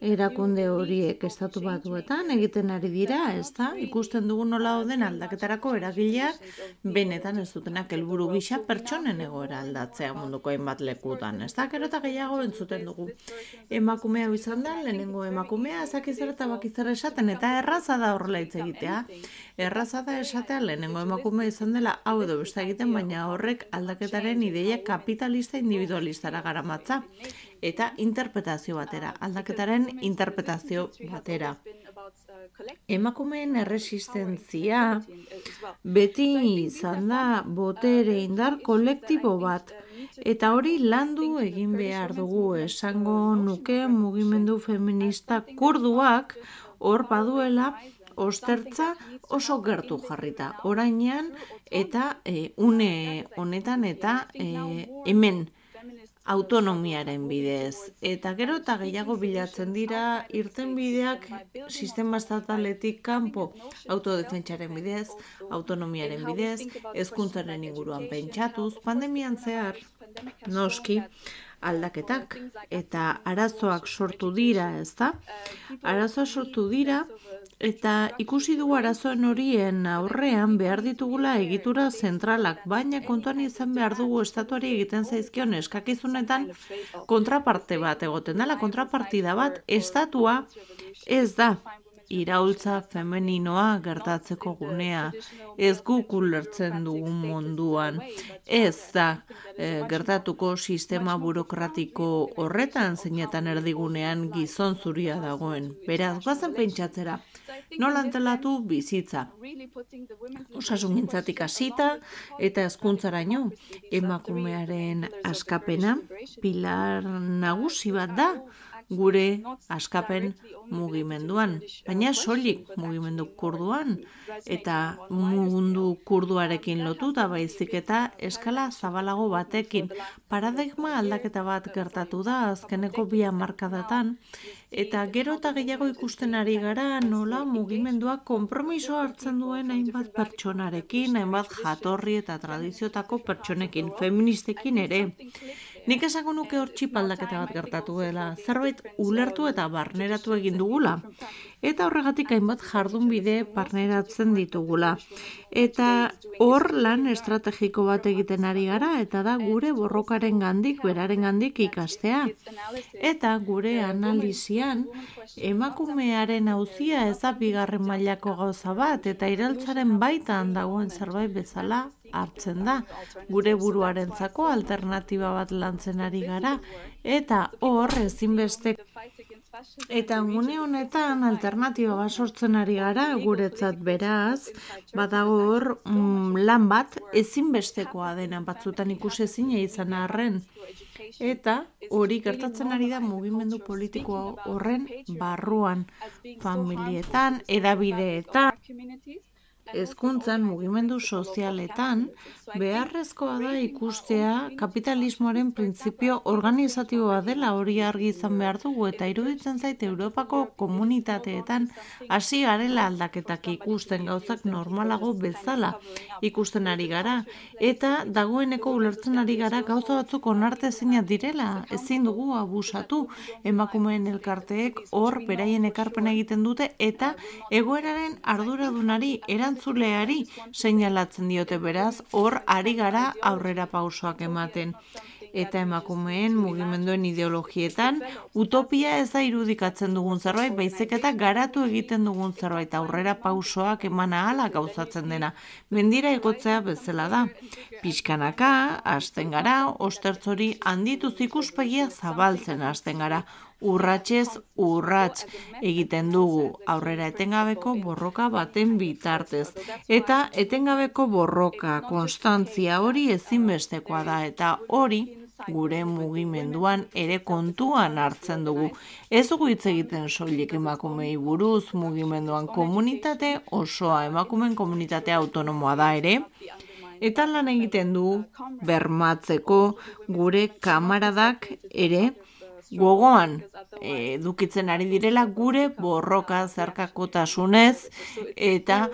erakunde horiek estatu batuetan egiten ari dira, ezta? Ikusten dugu nola dauden aldaketarako eragileak benetan ez dutenak helburu gisa pertsonen egoera aldatzea munduko hainbat lekutan, ezta? Gero eta gehiago entzuten dugu. Emakumea izan da, lehenengo emakumea ezakizer eta bakizer esaten, eta erraza da horrela hitz egitea. Erraza da esatea lehenengo emakumea izan dela hau edo beste egiten, baina horrek aldaketaren ideia kapitalista individualistara garamatza. Eta interpretazio batera, aldaketaren interpretazio batera. Emakumeen erresistentzia beti izan da botere indar kolektibo bat. Eta hori landu egin behar dugu, esango nuke mugimendu feminista kurduak hor baduela ostertza oso gertu jarrita. Orainean eta une honetan eta hemen autonomiaren bidez. Eta gero eta gehiago bilatzen dira irtenbideak sistema estataletik kanpo autodefentsaren bidez, autonomiaren bidez, hezkuntzaren inguruan pentsatuz, pandemian zehar noski aldaketak eta arazoak sortu dira, ezta? Arazoak sortu dira eta ikusi dugu arazoen horien aurrean behar ditugula egitura zentralak, baina kontuan izan behar dugu estatuari egiten zaizkion eskakizunetan kontraparte bat egoten dela, kontrapartida bat estatua ez da iraultza femeninoa gertatzeko gunea. Ez guk ulertzen dugun munduan. Ez da gertatuko sistema burokratiko horretan zeinetan erdigunean gizon zuria dagoen. Beraz, bazen pentsatzera, nola antolatu bizitza. Osasungintzatik hasita eta hezkuntzaraino emakumearen askapena pilar nagusi bat da gure askapen mugimenduan, baina soilik mugimendu kurduan eta mundu kurduarekin lotuta baizik eta eskala zabalago batekin. Paradigma aldaketa bat gertatu da azkeneko 2 hamarkadatan eta gero eta gehiago ikusten ari gara nola mugimenduak konpromiso hartzen duen hainbat pertsonarekin, hainbat jatorri eta tradiziotako pertsonekin, feministekin ere. Nik esango nuke hor txip aldaketa bat gertatu dela, zerbait ulertu eta barneratu egin dugula. Eta horregatik hainbat jardunbide barneratzen ditugula. Eta hor lan estrategiko bat egiten ari gara, eta da gure borrokaren gandik, beraren gandik ikastea. Eta gure analizian, emakumearen auzia ez da 2. mailako gauza bat, eta iraultzaren baitan dagoen zerbait bezala hartzen da. Gure buruarentzako alternatiba bat lantzen ari gara, eta hor ezinbeste. Eta gune honetan alternatiba bat sortzen ari gara, guretzat beraz, badago hor lan bat ezinbestekoa dena batzutan ikusezina izan arren. Eta hori gertatzen ari da mugimendu politiko horren barruan, familietan, hedabideetan, hezkuntzan, mugimendu sozialetan, beharrezkoa da ikustea kapitalismoaren printzipio organizatiboa dela, hori argi izan behar dugu, eta iruditzen zait Europako komunitateetan hasi garela aldaketak ikusten, gauzak normalago bezala ikusten ari gara, eta dagoeneko ulertzen ari gara gauza batzuk onartezinak direla, ezin dugu abusatu, emakumeen elkarteek hor beraien ekarpena egiten dute, eta egoeraren arduradunari erantzuleari seinalatzen diote, beraz, hor ari gara aurrera pausoak ematen. Eta emakumeen mugimenduen ideologietan utopia ez da irudikatzen dugun zerbait, baizik eta garatu egiten dugun zerbait, aurrera pausoak eman ahala gauzatzen dena. Mendira igotzea bezala da. Pixkanaka, hasten gara, ostertzori handituz ikuspegia zabaltzen hasten gara. Urratsez urrats egiten dugu aurrera etengabeko borroka baten bitartez. Eta etengabeko borroka, konstantzia hori ezinbestekoa da, eta hori gure mugimenduan ere kontuan hartzen dugu. Ez dugu hitz egiten soilik emakumei buruz, mugimenduan komunitate osoa, emakumeen komunitate autonomoa da ere, eta lan egiten du bermatzeko gure kamaradak ere gogoan edukitzen ari direla gure borroka zeharkakotasunez eta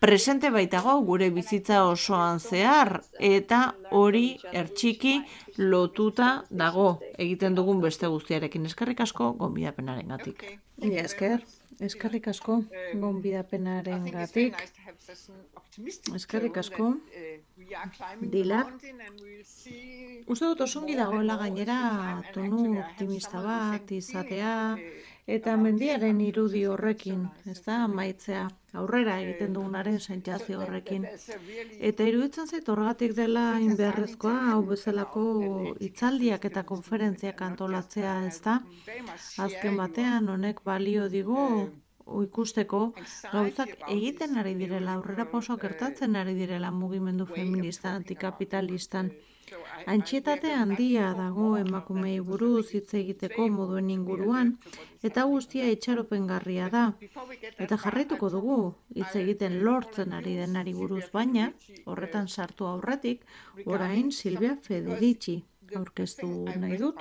presente baitago gure bizitza osoan zehar, eta hori ertxiki lotuta dago egiten dugun beste guztiarekin. Eskerrik asko gonbidapenarengatik. Mila esker, eskerrik asko gonbidapenarengatik. Eskerrik asko. Dilar. Uste dut osongi dagoela gainera tonu optimista bat izatea eta mendiaren irudi horrekin, ez da, maitzea aurrera egiten dugunaren sentsazio horrekin. Eta iruditzen zait horregatik dela inbeharrezkoa hau bezalako hitzaldiak eta konferentziak antolatzea, ez da. Azken batean honek balio digu ikusteko gauzak egiten ari direla, aurrera pausoak gertatzen ari direla mugimendu feminista, antikapitalistan. Antsietate handia dago emakumei buruz hitz egiteko moduen inguruan, eta guztia itxaropengarria da. Eta jarraituko dugu hitz egiten lortzen ari denari buruz, baina horretan sartu aurretik, orain Silvia Federici aurkeztu nahi dut.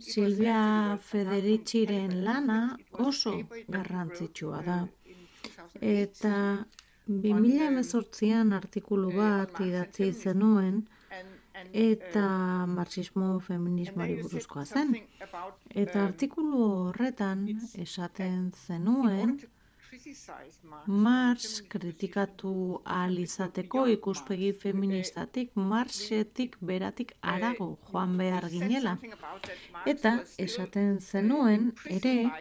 Silvia Federiciren lana oso garrantzitsua da. Eta 2018an artikulu bat idatzi zenuen, eta marxismo feminismoari buruzkoa zen. Eta artikulu horretan esaten zenuen Marx kritikatu ahal izateko ikuspegi feministatik, Marxetik beratik harago joan behar ginela. Eta esaten zenuen ere,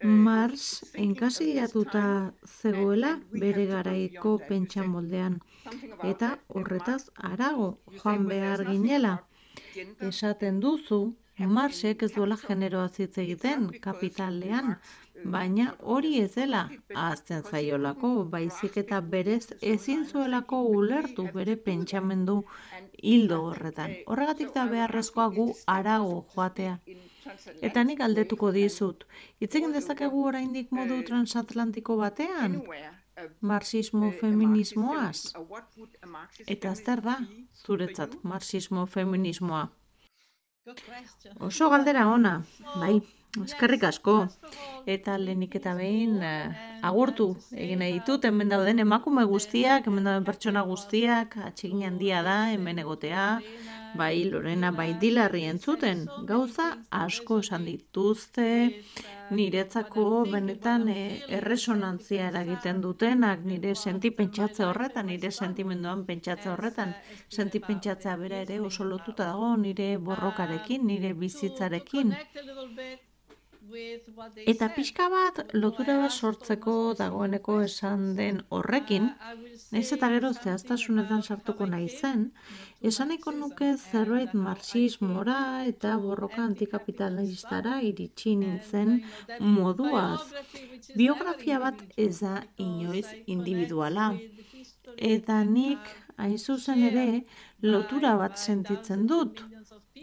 Marx enkasilatuta zegoela bere garaiko pentsamoldean. Eta horretaz harago joan behar ginela. Esaten duzu, Marxek ez duela generoaz hitz egiten kapitalean, baina hori ez dela ahazten zaiolako, baizik eta berez ezin zuelako ulertu bere pentsamendu hildo horretan. Horregatik da beharrezkoa gu harago joatea. Eta nik galdetuko dizut, hitz egin dezakegu oraindik modu transatlantiko batean? Marxismo feminismoaz? Eta zer da zuretzat marxismo feminismoa? Oso galdera ona, bai, eskerrik asko. Eta lehenik eta behin agurtu egin nahi ditut, hemen dauden emakume guztiak, hemen dauden pertsona guztiak, atsegin handia da, hemen egotea, bai Lorena, bai Dilarri entzuten, gauza asko esan dituzte, niretzako benetan erresonantzia eragiten dutenak, nire sentipentsatzea horretan, nire sentimenduan pentsatzea horretan, sentipentsatzea bera ere oso lotuta dago nire borrokarekin, nire bizitzarekin. Eta pixka bat lotura bat sortzeko dagoeneko esan den horrekin, nahiz eta gero zehaztasunetan sartuko nahi zen, esaneko nuke zerbait marxismora eta borroka antikapitalistara iritsi nintzen moduaz. Biografia bat ez da inoiz individuala. Eta nik, hain zuzen ere, lotura bat sentitzen dut.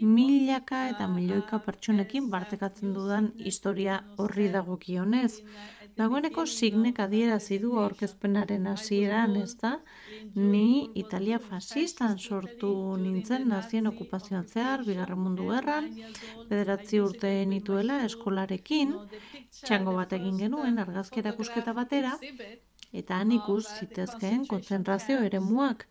Milaka eta milioika pertsonekin partekatzen dudan historia horri dagokionez. Dagoeneko signek adierazi du aurkezpenaren hasieran, ezta? Ni Italia fascistan sortu nintzen nazien okupazioan zehar, Bigarren Mundu Gerran, 9 urte nituela eskolarekin, txango bat egin genuen argazki erakusketa batera, eta han ikus zitezkeen kontzentrazio eremuak.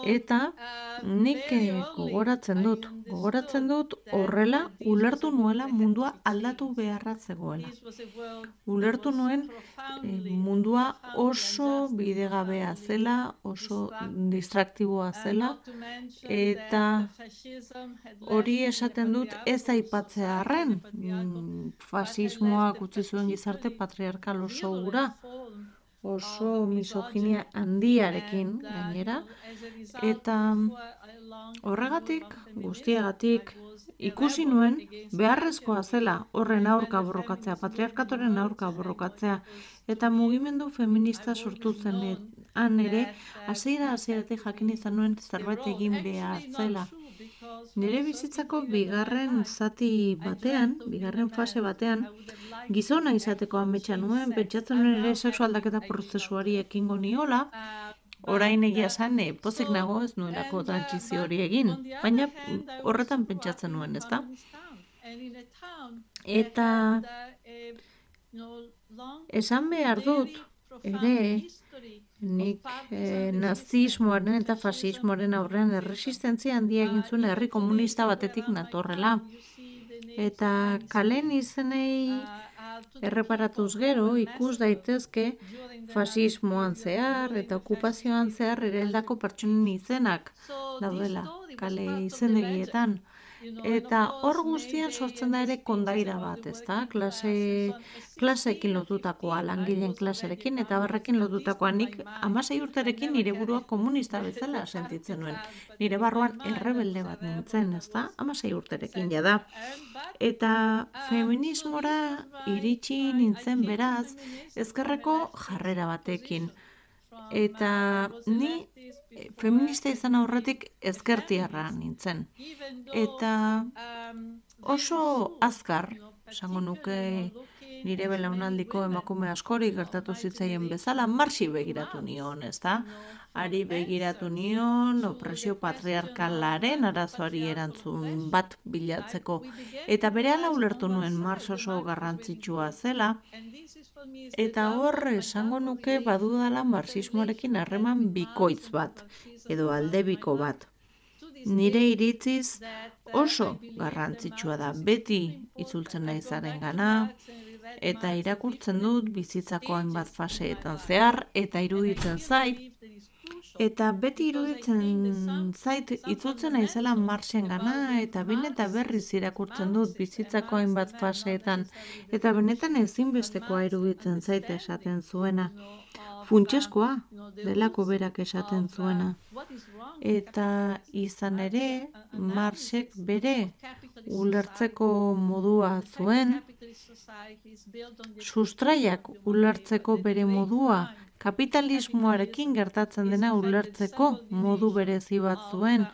Eta nik gogoratzen dut horrela ulertu nuela mundua aldatu beharra zegoela. Ulertu nuen mundua oso bidegabea zela, oso distraktiboa zela, eta hori esaten dut ez aipatzea arren, fasismoak utzi zuen gizarte patriarkal oso hura, oso misoginia handiarekin gainera, eta horregatik, guztiagatik, ikusi nuen beharrezkoa zela horren aurka borrokatzea, patriarkatoren aurka borrokatzea, eta mugimendu feminista sortu zenean ere, hasieratik jakin izan nuen zerbait egin behar zela. Nire bizitzako bigarren zati batean, bigarren fase batean, gizona izateko ametsa nuen, pentsatzen nuen ere sexu aldaketa prozesuari ekingo niola, orain egia esan pozik nago ez nuelako trantsizio hori egin, baina horretan pentsatzen nuen, ezta? Eta esan behar dut, ere, nik nazismoaren eta fasismoaren aurrean erresistentzia handia egin zuen herri komunista batetik natorrela. Eta kalen izenei erreparatuz gero ikus daitezke fasismoan zehar eta okupazioan zehar ereldako pertsonen izenak daudela kale izenegietan. Eta hor guztian sortzen da ere kondaira bat, ezta? Klaseekin lotutakoa, langileen klaserekin, eta barrekin lotutakoa. Nik 16 urterekin nire burua komunista bezala sentitzen nuen. Nire barruan errebelde bat nintzen, ezta? 16 urterekin jada. Eta feminismora iritsi nintzen beraz, ezkerreko jarrera batekin. Eta ni feminista izan aurretik ezkertiarra nintzen. Eta oso azkar, esango nuke nire belaunaldiko emakume askori gertatu zitzaien bezala, Marxi begiratu nion, ezta? Ari begiratu nion, opresio patriarkalaren arazoari erantzun bat bilatzeko. Eta berehala ulertu nuen Marx oso garrantzitsua zela, eta hor esango nuke badudala marxismoarekin harreman bikoitz bat, edo aldebiko bat. Nire iritziz oso garrantzitsua da, beti itzultzen naizaren gana, eta irakurtzen dut bizitzako hainbat faseetan zehar, eta iruditzen zait, eta beti iruditzen zait itzultzen naizela Marxen gana, eta behin eta berriz irakurtzen dut bizitzako hainbat faseetan, eta benetan ezinbestekoa iruditzen zait esaten zuena. Funtseskoa delako berak esaten zuena. Eta izan ere, Marxek bere ulertzeko modua zuen, sustraiak ulertzeko bere modua, kapitalismoarekin gertatzen dena ulertzeko modu berezi bat zuen,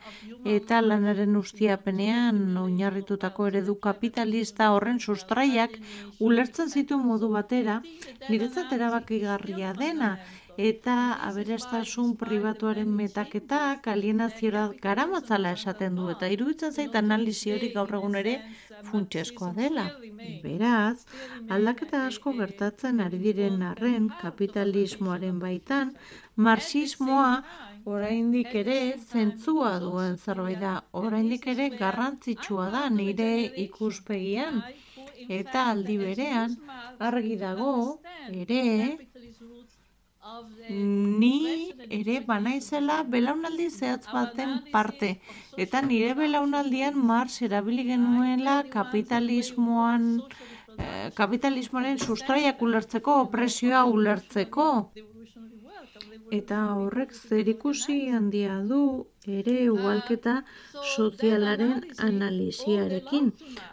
eta lanaren ustiapenean oinarritutako eredu kapitalista horren sustraiak ulertzen zituen modu batera, niretzat erabakigarria dena, eta aberastasun pribatuaren metaketak alienaziora garamatzala esaten du, eta iruditzen zait analisi hori gaur egun ere funtseskoa dela. Beraz, aldaketa asko gertatzen ari diren arren kapitalismoaren baitan, marxismoa oraindik ere zentzua duen zerbait da, oraindik ere garrantzitsua da nire ikuspegian, eta aldi berean argi dago ere ni ere banaizela belaunaldi zehatz baten parte, eta nire belaunaldian Marx erabili genuela kapitalismoaren sustraiak ulertzeko, opresioa ulertzeko. Eta horrek zerikusi handia du ere ugalketa sozialaren analisiarekin.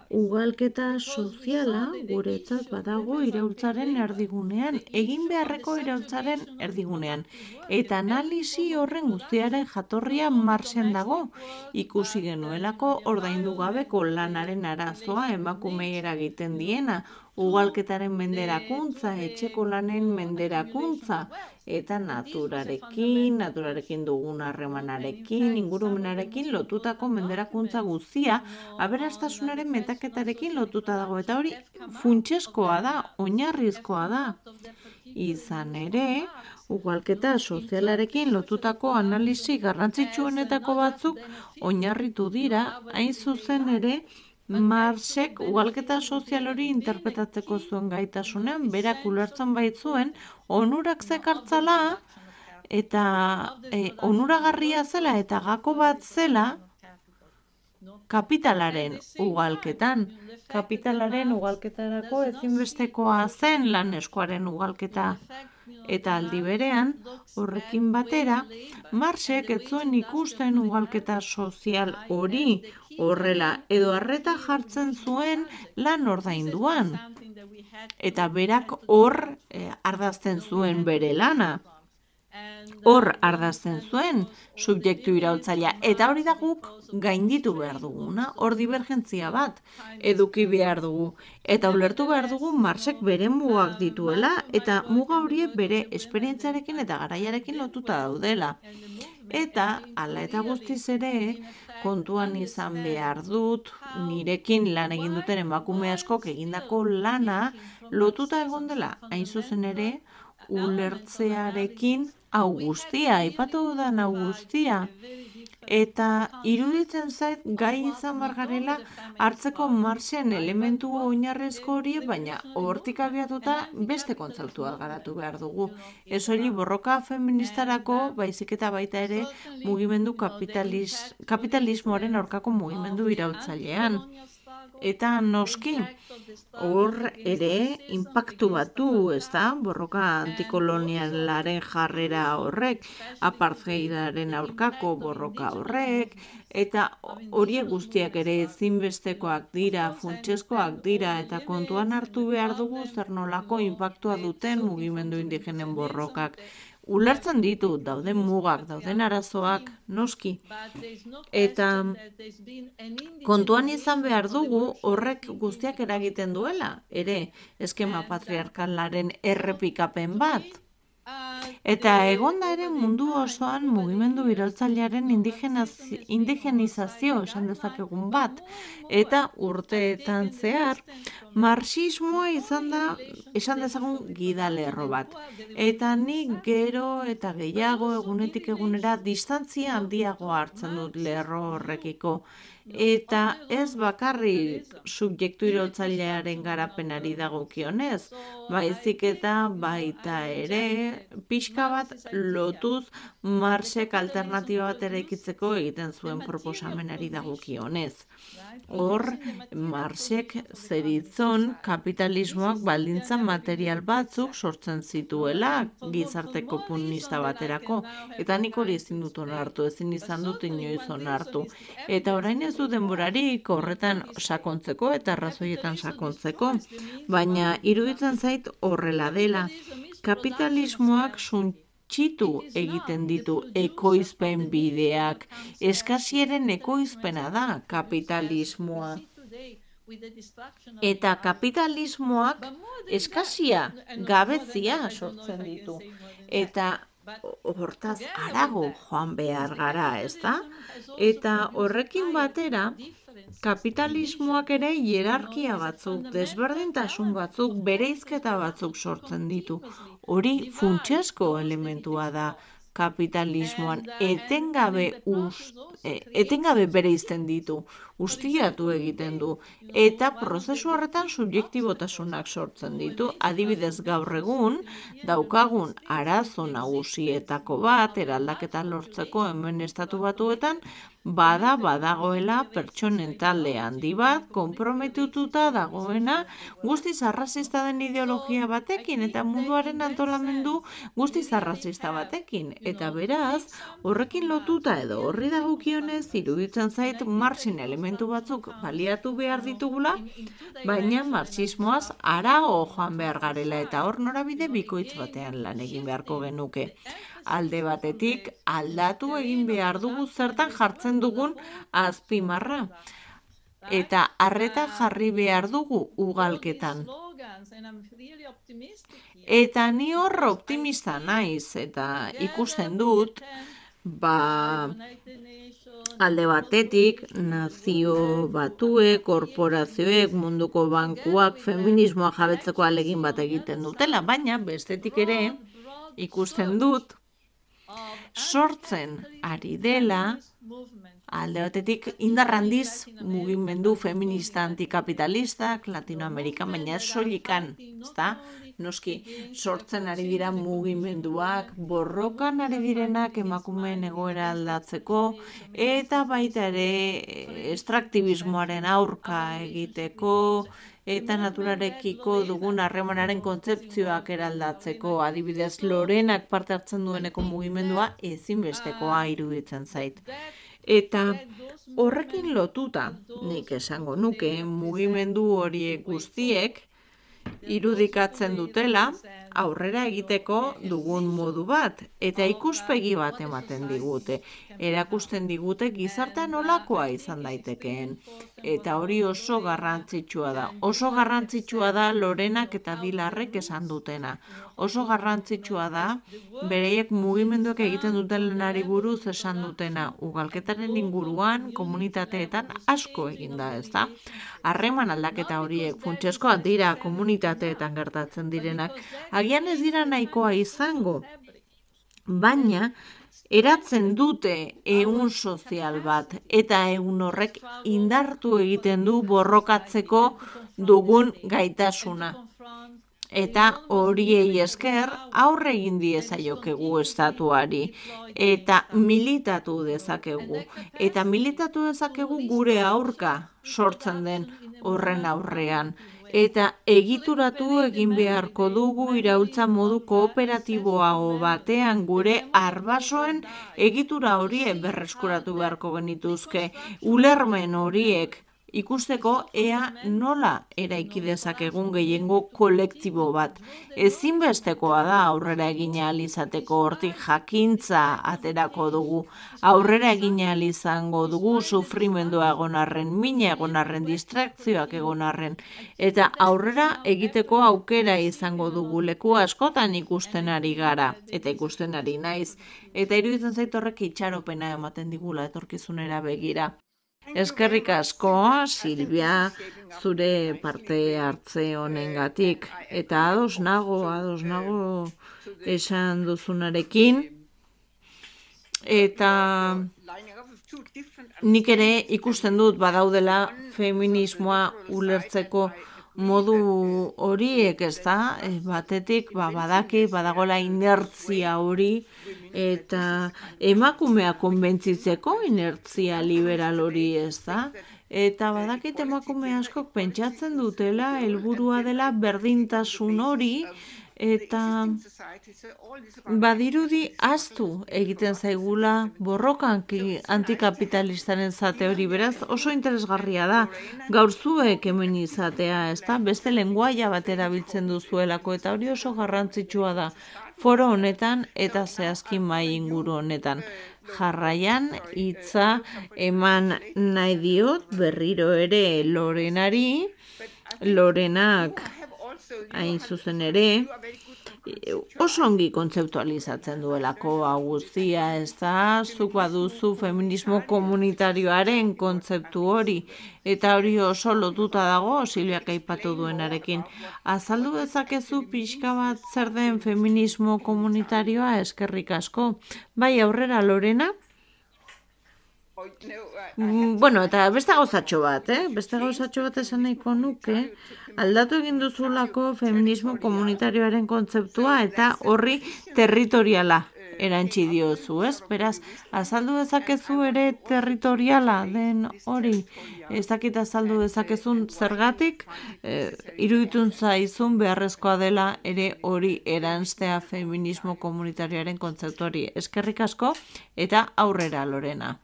Ugalketa soziala guretzat badago iraultzaren erdigunean, egin beharreko iraultzaren erdigunean. Eta analisi horren guztiaren jatorria Marxen dago, ikusi genuelako ordaindu gabeko lanaren arazoa emakumei eragiten diena, ugalketaren menderakuntza, etxeko lanen menderakuntza, eta naturarekin dugun harremanarekin, ingurumenarekin lotutako menderakuntza guztia, aberastasunaren metaketarekin lotuta dago, eta hori funtseskoa da, oinarrizkoa da. Izan ere, ugalketa sozialarekin lotutako analisi garrantzitsuenetako batzuk oinarritu dira, hain zuzen ere, Marxek ugalketa sozial hori interpretatzeko zuen gaitasunean, berak ulertzen baitzuen, onurak zekartzala, eta onuragarria zela eta gako bat zela kapitalaren ugalketan. Kapitalaren ugalketarako ezinbestekoa zen lan eskuaren ugalketa. Eta aldi berean, horrekin batera, Marxek ez zuen ikusten ugalketa sozial hori horrela, edo arreta jartzen zuen lan ordainduan. Eta berak hor ardazten zuen bere lana. Hor ardazten zuen subjektu iraultzailea, eta hori da guk gainditu behar duguna, hor divergentzia bat eduki behar dugu. Eta ulertu behar dugu Marxek bere mugak dituela, eta muga horiek bere esperientziarekin eta garaiarekin lotuta daudela. Eta, hala eta guztiz ere, kontuan izan behar dut, nirekin lan egin duten emakume askok egindako lana lotuta egon dela, hain zuzen ere, ulertzearekin hau guztia, aipatu dudan hau guztia. Eta iruditzen zait gai izan bargarela hartzeko Marxen elementu oinarrezko hori, baina hortik abiatuta beste kontzeptua garatu behar dugu. Ez hori borroka feministarako, baizik eta baita ere mugimendu kapitalismoaren aurkako mugimendu iraultzailean. Eta noski, hor ere inpaktu batu, ez da, borroka antikolonialaren jarrera horrek, apartheidaren aurkako borroka horrek, eta horiek guztiak ere ezinbestekoak dira, funtseskoak dira, eta kontuan hartu behar dugu zer nolako inpaktua duten mugimendu indigenen borrokak. Ulertzen ditu, dauden mugak, dauden arazoak, noski. Eta kontuan izan behar dugu horrek guztiak eragiten duela, ere eskema patriarkalaren errepikapen bat. Eta egonda ere mundu osoan mugimendu iraultzailearen indigenizazio esan dezakegun bat, eta urteetan zehar, marxismoa izan da, esan dezagun gidalerro bat. Eta nik gero eta gehiago egunetik egunera distantzia handiago hartzen dut lerro horrekiko. eta ez bakarrik subjektu iraultzailearen garapenari dagokionez, baizik eta baita ere pixka bat lotuz Marxek alternatiba bat eraikitzeko egiten zuen proposamenari dagokionez. Hor, Marxek zeritzon kapitalismoak baldintza material batzuk sortzen zituela gizarte komunista baterako, eta nik hori ezin dut onartu, ezin izan dut inoiz onartu. Eta orain ez du denborarik horretan sakontzeko eta arrazoietan sakontzeko, baina iruditzen zait horrela dela. Kapitalismoak suntsitu egiten ditu ekoizpen bideak, eskasiaren ekoizpena da kapitalismoa. Eta kapitalismoak eskasia, gabezia sortzen ditu. Eta hortaz harago joan behar gara, ezta? Eta horrekin batera, kapitalismoak ere hierarkia batzuk, desberdintasun batzuk, bereizketa batzuk sortzen ditu. Hori funtsezko elementua da kapitalismoan, etengabe bereizten ditu, ustiatu egiten du, eta prozesu horretan subjektibotasunak sortzen ditu. Adibidez gaur egun, daukagun arazo nagusietako bat, eraldaketa lortzeko hemen Estatu Batuetan, badagoela pertsonen talde handi bat, konprometituta dagoena, guztiz arrazista den ideologia batekin, eta munduaren antolamendu guztiz arrazista batekin. Eta beraz, horrekin lotuta edo horri dagokionez, iruditzen zait Marxen elementu batzuk baliatu behar ditugula, baina marxismoaz harago joan behar garela, eta hor norabide bikoitz batean lan egin beharko genuke. Alde batetik aldatu egin behar dugu zertan jartzen dugun azpimarra. Eta arreta jarri behar dugu ugalketan. Eta ni hor optimista naiz, eta ikusten dut, alde batetik nazio batuek, korporazioek, munduko bankuak, feminismoa jabetzeko ahalegin bat egiten dutela, baina bestetik ere ikusten dut, sortzen ari dela, alde batetik indar handiz mugimendu feminista antikapitalistak Latinoamerikan, baina ez soilikan, ezta? Noski, sortzen ari dira mugimenduak, borrokan ari direnak emakumeen egoera aldatzeko, eta baita ere estraktibismoaren aurka egiteko, eta naturarekiko dugun harremanaren kontzeptzioak eraldatzeko, adibidez Lorenak parte hartzen dueneko mugimendua ezinbestekoa iruditzen zait. Eta horrekin lotuta, nik esango nuke, mugimendu horiek guztiek irudikatzen dutela aurrera egiteko dugun modu bat, eta ikuspegi bat ematen digute. Erakusten digute gizartean nolakoa izan daitekeen. Eta hori oso garrantzitsua da. Oso garrantzitsua da Lorenak eta Dilarrek esan dutena. Oso garrantzitsua da bereiek mugimenduak egiten dutenari buruz esan dutena. Ugalketaren inguruan, komunitateetan asko egin da, ezta? Harreman aldaketa horiek funtsezkoak dira komunitateetan gertatzen direnak. Agian ez dira nahikoa izango, baina eratzen dute ehun sozial bat, eta ehun horrek indartu egiten du borrokatzeko dugun gaitasuna. Eta horiei esker aurre egin diezaiokegu estatuari, eta militatu dezakegu. Eta militatu dezakegu gure aurka sortzen den horren aurrean. Eta egituratu egin beharko dugu iraultza modu kooperatiboago batean gure arbasoen egitura horiek berreskuratu beharko genituzke, ulermen horiek ikusteko ea nola eraiki dezakegun gehiengo kolektibo bat. Ezinbestekoa da aurrera egin ahal izateko, hortik jakintza aterako dugu. Aurrera egin ahal izango dugu sufrimendua egon arren, mina egon arren, distrakzioak egon arren. Eta aurrera egiteko aukera izango dugu, leku askotan ikusten ari gara, eta ikusten ari naiz. Eta iruditzen zait horrek itxaropena ematen digula etorkizunera begira. Eskerrik asko, Silvia, zure parte hartze honengatik. Eta ados nago esan duzunarekin. Eta nik ere ikusten dut badaudela feminismoa ulertzeko modu horiek, ez da, batetik badagoela inertzia hori, eta emakumea konbentzitzeko inertzia liberal hori, ez da, eta badakit emakume askok pentsatzen dutela helburua dela berdintasun hori, eta badirudi ahaztu egiten zaigula borrokan antikapitalistaren zate hori, beraz oso interesgarria da gaur zuek hemen izatea, ezta? Beste lenguaia bat erabiltzen duzuelako, eta hori oso garrantzitsua da foro honetan eta zehazki mahai inguru honetan. Jarraian hitza eman nahi diot berriro ere Lorenari. Lorenak hain zuzen ere oso ongi kontzeptualizatzen duelako hau guztia, ez da, zuk baduzu feminismo komunitarioaren kontzeptu hori, eta hori oso lotuta dago Silviak aipatu duenarekin. Azaldu dezakezu pixka bat zer den feminismo komunitarioa? Eskerrik asko. Bai, aurrera Lorena? Bueno, eta beste gauzatxo bat, Beste gauzatxo bat esan nahiko nuke, aldatu egin duzulako feminismo komunitarioaren kontzeptua eta horri territoriala erantzi diozu, ez? Beraz, azaldu dezakezu ere territoriala den hori, ez dakit azaldu dezakezun zergatik, iruditun zaizun beharrezkoa dela ere hori erantztea feminismo komunitarioaren kontzeptuari. Eskerrik asko eta aurrera Lorena.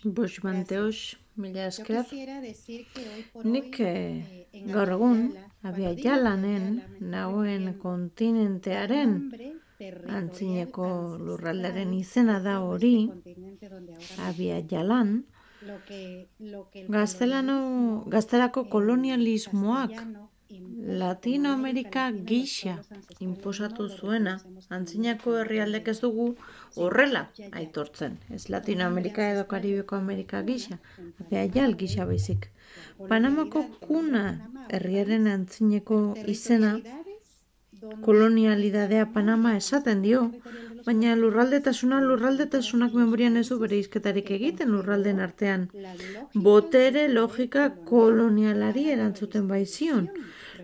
Busbanteos, mila esker. Nik gaur egun Abiajalanen nagoen kontinentearen antzineko lurraldearen izena da hori, Abiajalan, gaztelako kolonialismoak Latinoamerika gisa inposatu zuena, antzinako herrialdek ez dugu horrela aitortzen. Ez Latinoamerika edo Karibeko Amerika gisa, Abiajal gisa baizik. Panamako kuna herriaren antzineko izena, kolonialidadea Panama esaten dio, baina lurraldetasunak memorian ez du bere hizketarik egiten lurralden artean. Botere logika kolonialari erantzuten baizion,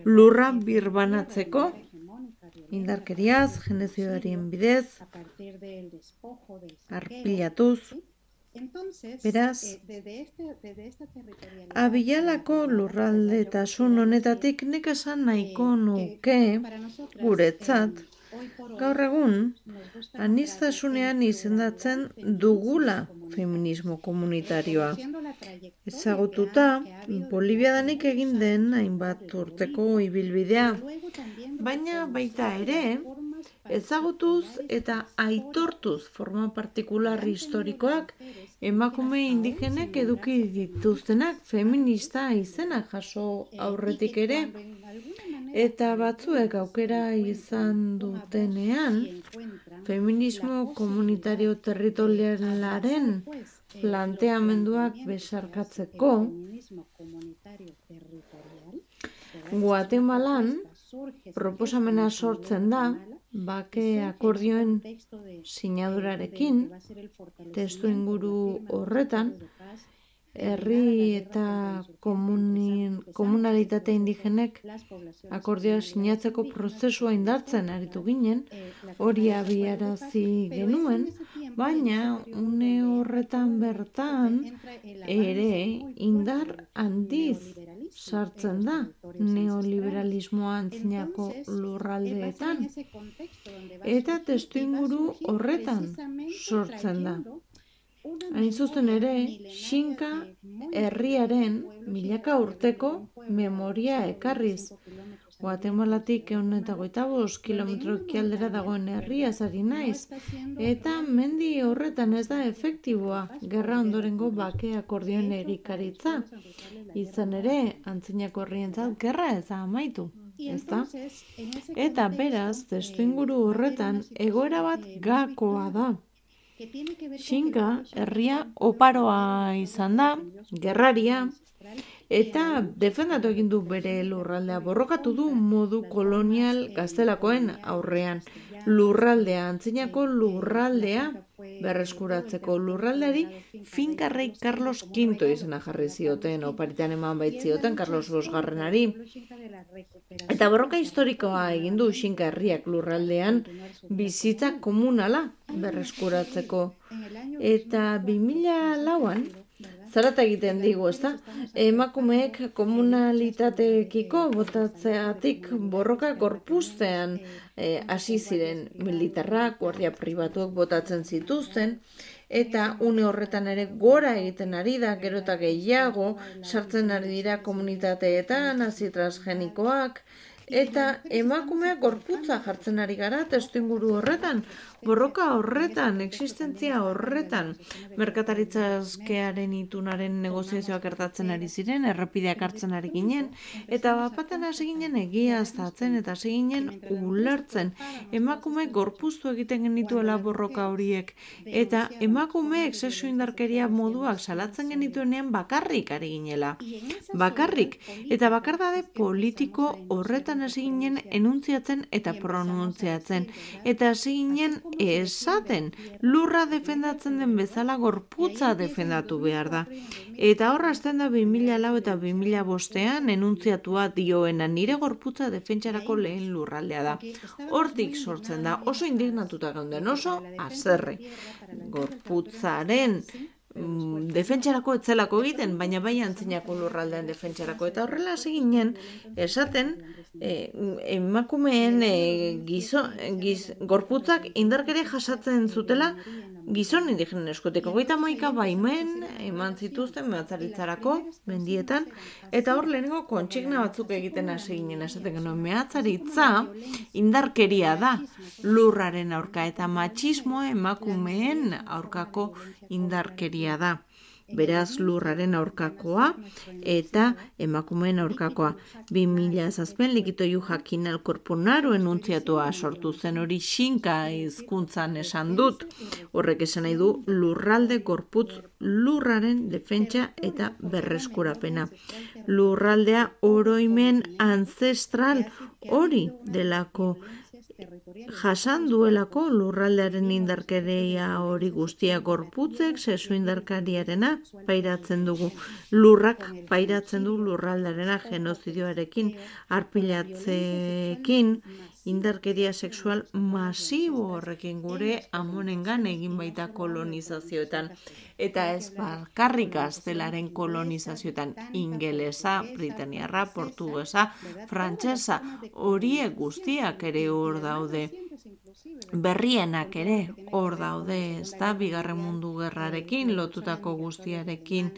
lurra birbanatzeko, indarkeriaz, genezidarien bidez, arpilatuz. Beraz, Abijalako lurraldetasun honetatik nik esan nahiko nuke guretzat, gaur egun, aniztasunean izendatzen dugula feminismo komunitarioa. Ezagututa, Boliviadanik egin den hainbat urteko ibilbidea, baina baita ere, ezagutuz eta aitortuz forma partikular historikoak emakume indigenek eduki dituztenak feminista izena jaso aurretik ere, eta batzuek aukera izan dutenean feminismo komunitario territorialaren planteamenduak besarkatzeko, Guatemalan proposamena sortzen da, bake akordioen sinadurarekin, testu inguru horretan, herri eta komunalitate indigenek akordioa sinatzeko prozesua indartzen aritu ginen, hori abiarazi genuen, baina une horretan bertan ere indar handiz sartzen da neoliberalismoa antzinako lurraldeetan, eta testuinguru horretan sortzen da. Hain zuzen ere, Xinka herriaren milaka urteko memoria ekarriz. Guatemalatik 125 kilometro ekialdera dagoen herriaz ari naiz, eta mendi horretan ez da efektiboa gerra ondorengo bake akordioen egikaritza. Izan ere, antzinako herrientzat gerra ez da amaitu, ezta? Eta beraz, testuinguru horretan egoera bat gakoa da. Xinka herria oparoa izan da, gerraria, eta defendatu egin du bere lurraldea, borrokatu du modu kolonial gaztelakoen aurrean. Lurraldea, antzinako lurraldea berreskuratzeko lurraldeari finka rei Carlos V izena jarri zioten, oparitan eman baitzioten Carlos Bosgarrenari. Eta borroka historikoa egin du Xinka herriak lurraldean bizitza komunala berreskuratzeko. Eta 2004an, zarata egiten digu, ezta? Emakumeek komunalitateekiko botatzeatik borroka gorpuztean hasi ziren militarrak, guardia pribatuak botatzen zituzten, eta une horretan ere gora egiten ari da, gero eta gehiago sartzen ari dira komunitateetan, hasi transgenikoak, eta emakumeak gorputza jartzen ari gara testuinguru horretan, borroka horretan, existentzia horretan, merkataritza askearen itunaren negoziazioak gertatzen ari ziren, errepideak hartzen ari ginen, eta bapatan hasi ginen egiaztatzen eta hasi ginen ulertzen. Emakumeek gorpuztu egiten genituela borroka horiek, eta emakumeek sexu indarkeria moduak salatzen genituenean bakarrik ari ginela. Bakarrik, eta bakardade politiko horretan hasi ginen enuntziatzen eta pronuntziatzen, eta hasi ginen esaten, lurra defendatzen den bezala gorputza defendatu behar da. Eta horra hasten da 2004 eta 2005 enuntziatua dioena, nire gorputza defentsarako lehen lurraldea da. Hortik sortzen da, oso indignatuta gaunden, oso haserre. Gorputzaren defentsarako etzelako egiten, baina bai antzinako lurraldean defentsarako. Eta horrela hasi ginen esaten emakumeen gorputzak indarkeria jasatzen zutela gizon indigenen eskutik. 31 baimen eman zituzten mehatzaritzarako mendietan, eta hor lehenengo kontsigna batzuk egiten hasi ginen esaten genuen, mehatzaritza indarkeria da lurraren aurka, eta matxismoa emakumeen aurkako indarkeria da. Beraz lurraren aurkakoa eta emakumeen aurkakoa. 2007 likitoiu jakin al korponaro enuntziatua sortu zen, hori Xinka hizkuntzan esan dut. Horrek esan nahi du lurralde gorputz lurraren defentsa eta berreskurapena. Lurraldea oroimen ancestral hori delako, jasan duelako lurraldearen indarkeria hori guztia gorputzek, sexu indarkariarena pairatzen dugu. Lurrak pairatzen du lurraldearena genozidioarekin, arpilatzeekin, indarkeria sexual masibo horrekin gure amonengan egin baita kolonizazioetan. Eta ez bakarrik gaztelaren kolonizazioetan, ingelesa, britaniarra, portugesa, frantsesa, horiek guztiak ere hor daude. Berrienak ere hor daude, ezta, Bigarren Mundu Gerrarekin, lotutako guztiarekin,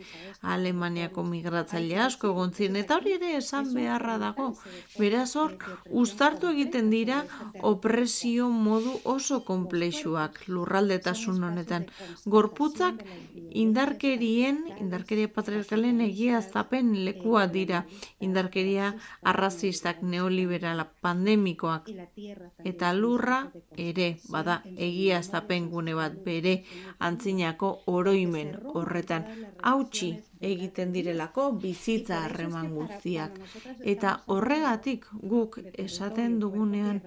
Alemaniako migratzaile asko egon ziren, eta hori ere esan beharra dago. Beraz hor, uztartu egiten dira opresio modu oso konplexuak lurraldetasun honetan. Gorputzak indarkeria patriarkalen egiaztapen lekua dira, indarkeria arrazistak, neoliberala, pandemikoak, eta lurra ere, bada, egiaztapen gune bat bere antzinako oroimen horretan, hautsi egiten direlako bizitza harreman guztiak. Eta horregatik guk esaten dugunean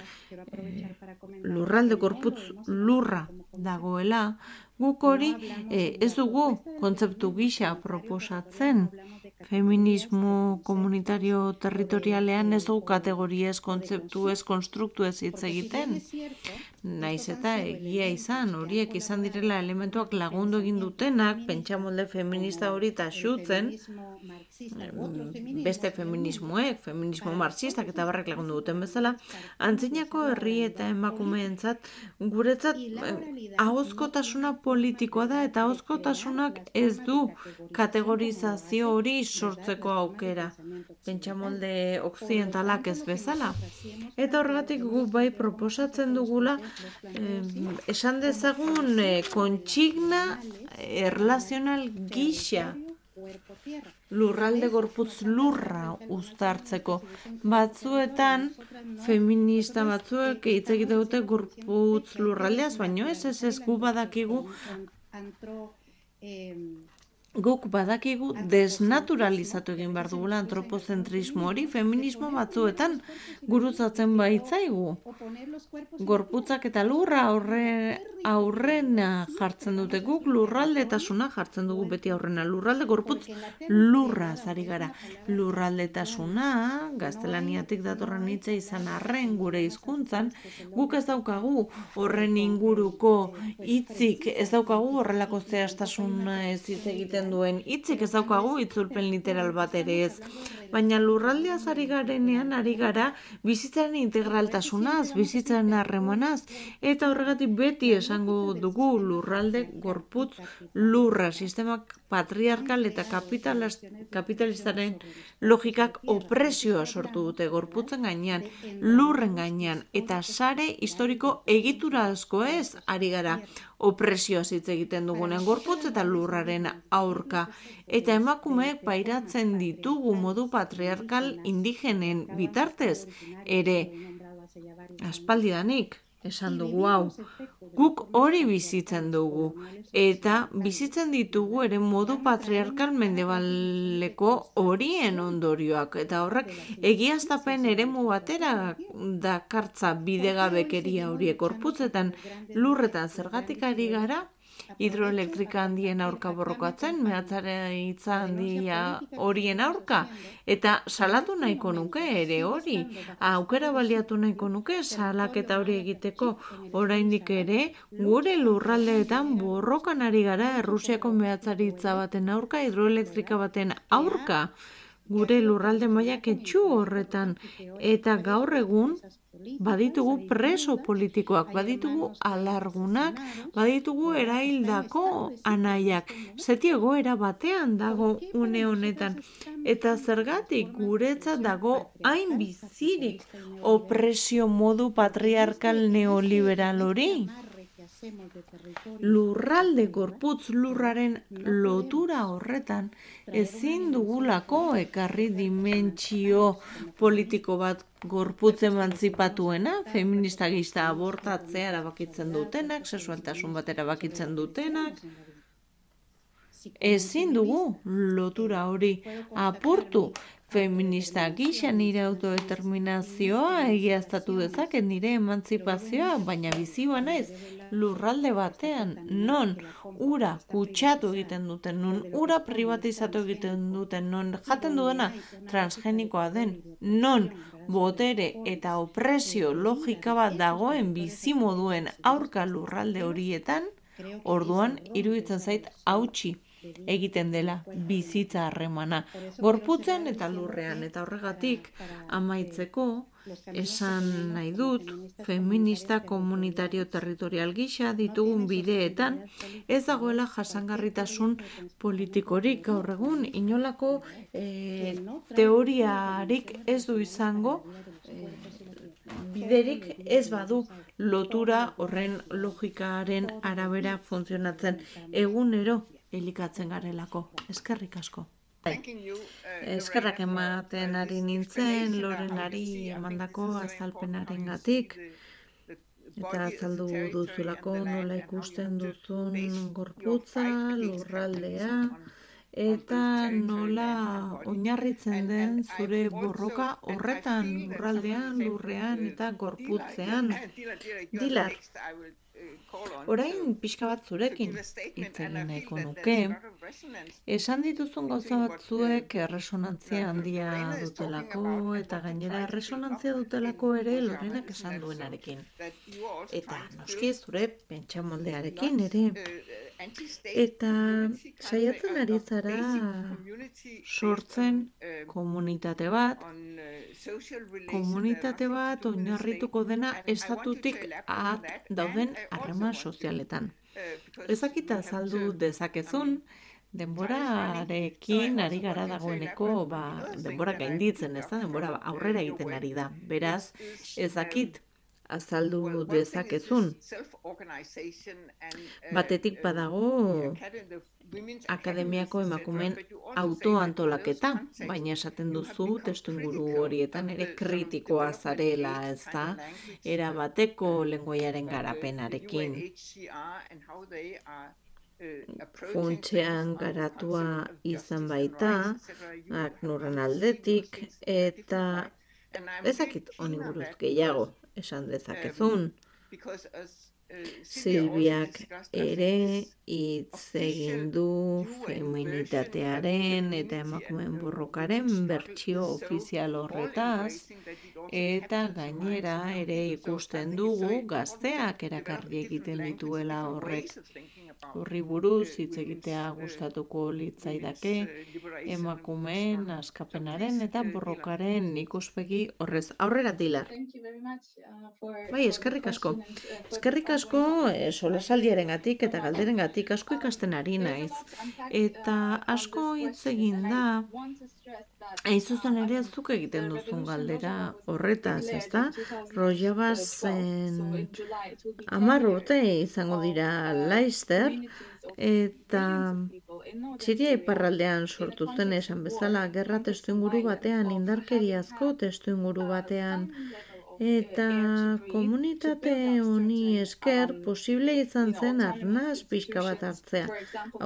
lurralde gorputz lurra dagoela, guk hori ez dugu kontzeptu gisa proposatzen. Feminismo komunitario territorialean ez dugu kategoriez, kontzeptuez, konstruktuez hitz egiten. Naiz eta egia izan, horiek izan direla elementuak lagundu egin dutenak, pentsamolde feminista hori taxutzen, beste feminismoek, feminismo marxistak eta barrek lagundu duten bezala, antzinako herri eta emakumeentzat, guretzat ahozkotasuna politikoa da, eta ahozkotasunak ez du kategorizazio hori sortzeko aukera, pentsamolde okzidentalak ez bezala. Eta horregatik gu bai proposatzen dugula, esan dezagun kontsigna erlazional gisa lurralde gorputz lurra uztartzeko. Batzuetan, feminista batzuek hitz egite dute gorputz lurraldeaz, baino ez gu badakigu guk badakigu desnaturalizatu egin behar dugula antropozentrismo hori feminismo batzuetan gurutzatzen baitzaigu. Gorputzak eta lurra aurrena jartzen dute, guk lurraldetasuna jartzen dugu beti aurrena. Lurralde gorputz lurra zari gara. Lurraldetasuna, gaztelaniatik datorren hitza izan arren gure hizkuntzan, guk ez daukagu horren inguruko hitzik, ez daukagu horrelako zehaztasuna ez hitz egiten duen hitzik, ez daukagu itzulpen literal bat ere ez. Baina lurraldeaz ari garenean ari gara bizitzaren integraltasunaz, bizitzaren harremanaz, eta horregatik beti esango dugu lurralde gorputz lurra, sistemak patriarkal eta kapitalistaren logikak opresioa sortu dute gorputzen gainean, lurren gainean, eta sare historiko egitura asko ez ari gara opresioa hitz egiten dugunen gorputz eta lurraren aurka. Eta emakumeek pairatzen ditugu modu patriarkal indigenen bitartez, ere aspaldidanik esan dugu hau. Guk hori bizitzen dugu, eta bizitzen ditugu ere modu patriarkal mendebaleko horien ondorioak, eta horrek egiaztapen eremu batera dakartza bidegabekeria horiek gorputzetan lurretan zergatik ari gara, hidroelektrika handien aurka borrokatzen, mehatzaritza handia horien aurka, eta salatu nahiko nuke ere hori, aukera baliatu nahiko nuke salaketa hori egiteko, oraindik ere gure lurraldeetan borrokan ari gara Errusiako mehatzaritza baten aurka, hidroelektrika baten aurka, gure lurralde mailak etxu horretan, eta gaur egun baditugu preso politikoak, baditugu alargunak, baditugu eraildako anaiak. Zeti egoera batean dago une honetan. Eta zergatik guretzat dago hain bizirik opresio modu patriarkal neoliberal hori? Lurralde gorputz lurraren lotura horretan ezin dugulako ekarri dimentsio politiko bat gorputz emantzipatuena, feminista gista abortatzea erabakitzen dutenak, sexualtasun bat erabakitzen dutenak. Ezin dugu lotura hori apurtu. Feminista gisa nire autodeterminazioa egiaztatu dezaket nire emantzipazioa, baina biziba naiz lurralde batean, non ura kutsatu egiten duten, non ura privatizatu egiten duten, non jaten duena transgenikoa den, non botere eta opresio logika bat dagoen bizimoduen aurka lurralde horietan, orduan iruditzen zait hautsi egiten dela bizitza harremana, gorputzen eta lurrean, eta horregatik amaitzeko esan nahi dut, feminista komunitario territorial gisa ditugun bideetan ez dagoela jasangarritasun politikorik gaur egun, inolako teoriarik ez du izango, biderik ez badu lotura horren logikaren arabera funtzionatzen egunero elikatzen garelako. Eskerrik asko. Eskerrak ematen ari nintzen, Lorenari emandako azalpenarengatik, eta azaldu duzulako nola ikusten duzun gorputza, lurraldea, eta nola oinarritzen den zure borroka horretan, lurraldean, lurrean eta gorputzean. Dilar, orain pixka bat zurekin hitz egin nahiko nuke. Esan dituzun gauza batzuek erresonantzia handia dutelako, eta gainera erresonantzia dutelako ere Lorenak esan duenarekin. Eta noski zure pentsamoldearekin ere. Eta saiatzen ari zara sortzen komunitate bat oinarrituko dena estatutik at dauden harreman sozialetan. Ezakita azaldu dezakezun, denborarekin ari gara dagoeneko, denbora gainditzen, ez da, denbora aurrera egiten ari da. Beraz, ezakit azaldu dezakezun. Batetik badago akademiako emakumeen autoantolaketa, baina esaten duzu testuinguru horietan ere kritikoa zarela, ez da, erabateko lengoaiaren garapenarekin. funtsean garatua izan baita, ACNURren aldetik, eta ezakit honi buruz gehiago esan dezakezun. Silviak ere hitz egin du feminitatearen eta emakumeen borrokaren bertsio ofizial horretaz, eta gainera ere ikusten dugu gazteak erakarri egiten dituela horrek. Horri buruz hitz egitea gustatuko litzaidake emakumeen askapenaren eta borrokaren ikuspegi horrez. Aurrera, Dilar. Bai, eskerrik asko. Eskerrik asko solasaldiarengatik eta galderengatik asko ikasten ari naiz. Eta asko hitz egin da, hain zuzen ere zuk egiten duzun galdera horretaz, ezta? Rojabazen 10 urte izango dira Leicester, eta Siria iparraldean sortu zen esan bezala gerra testuinguru batean, indarkeriazko testuinguru batean, eta komunitate honi esker posible izan zen arnaz pixka bat hartzea.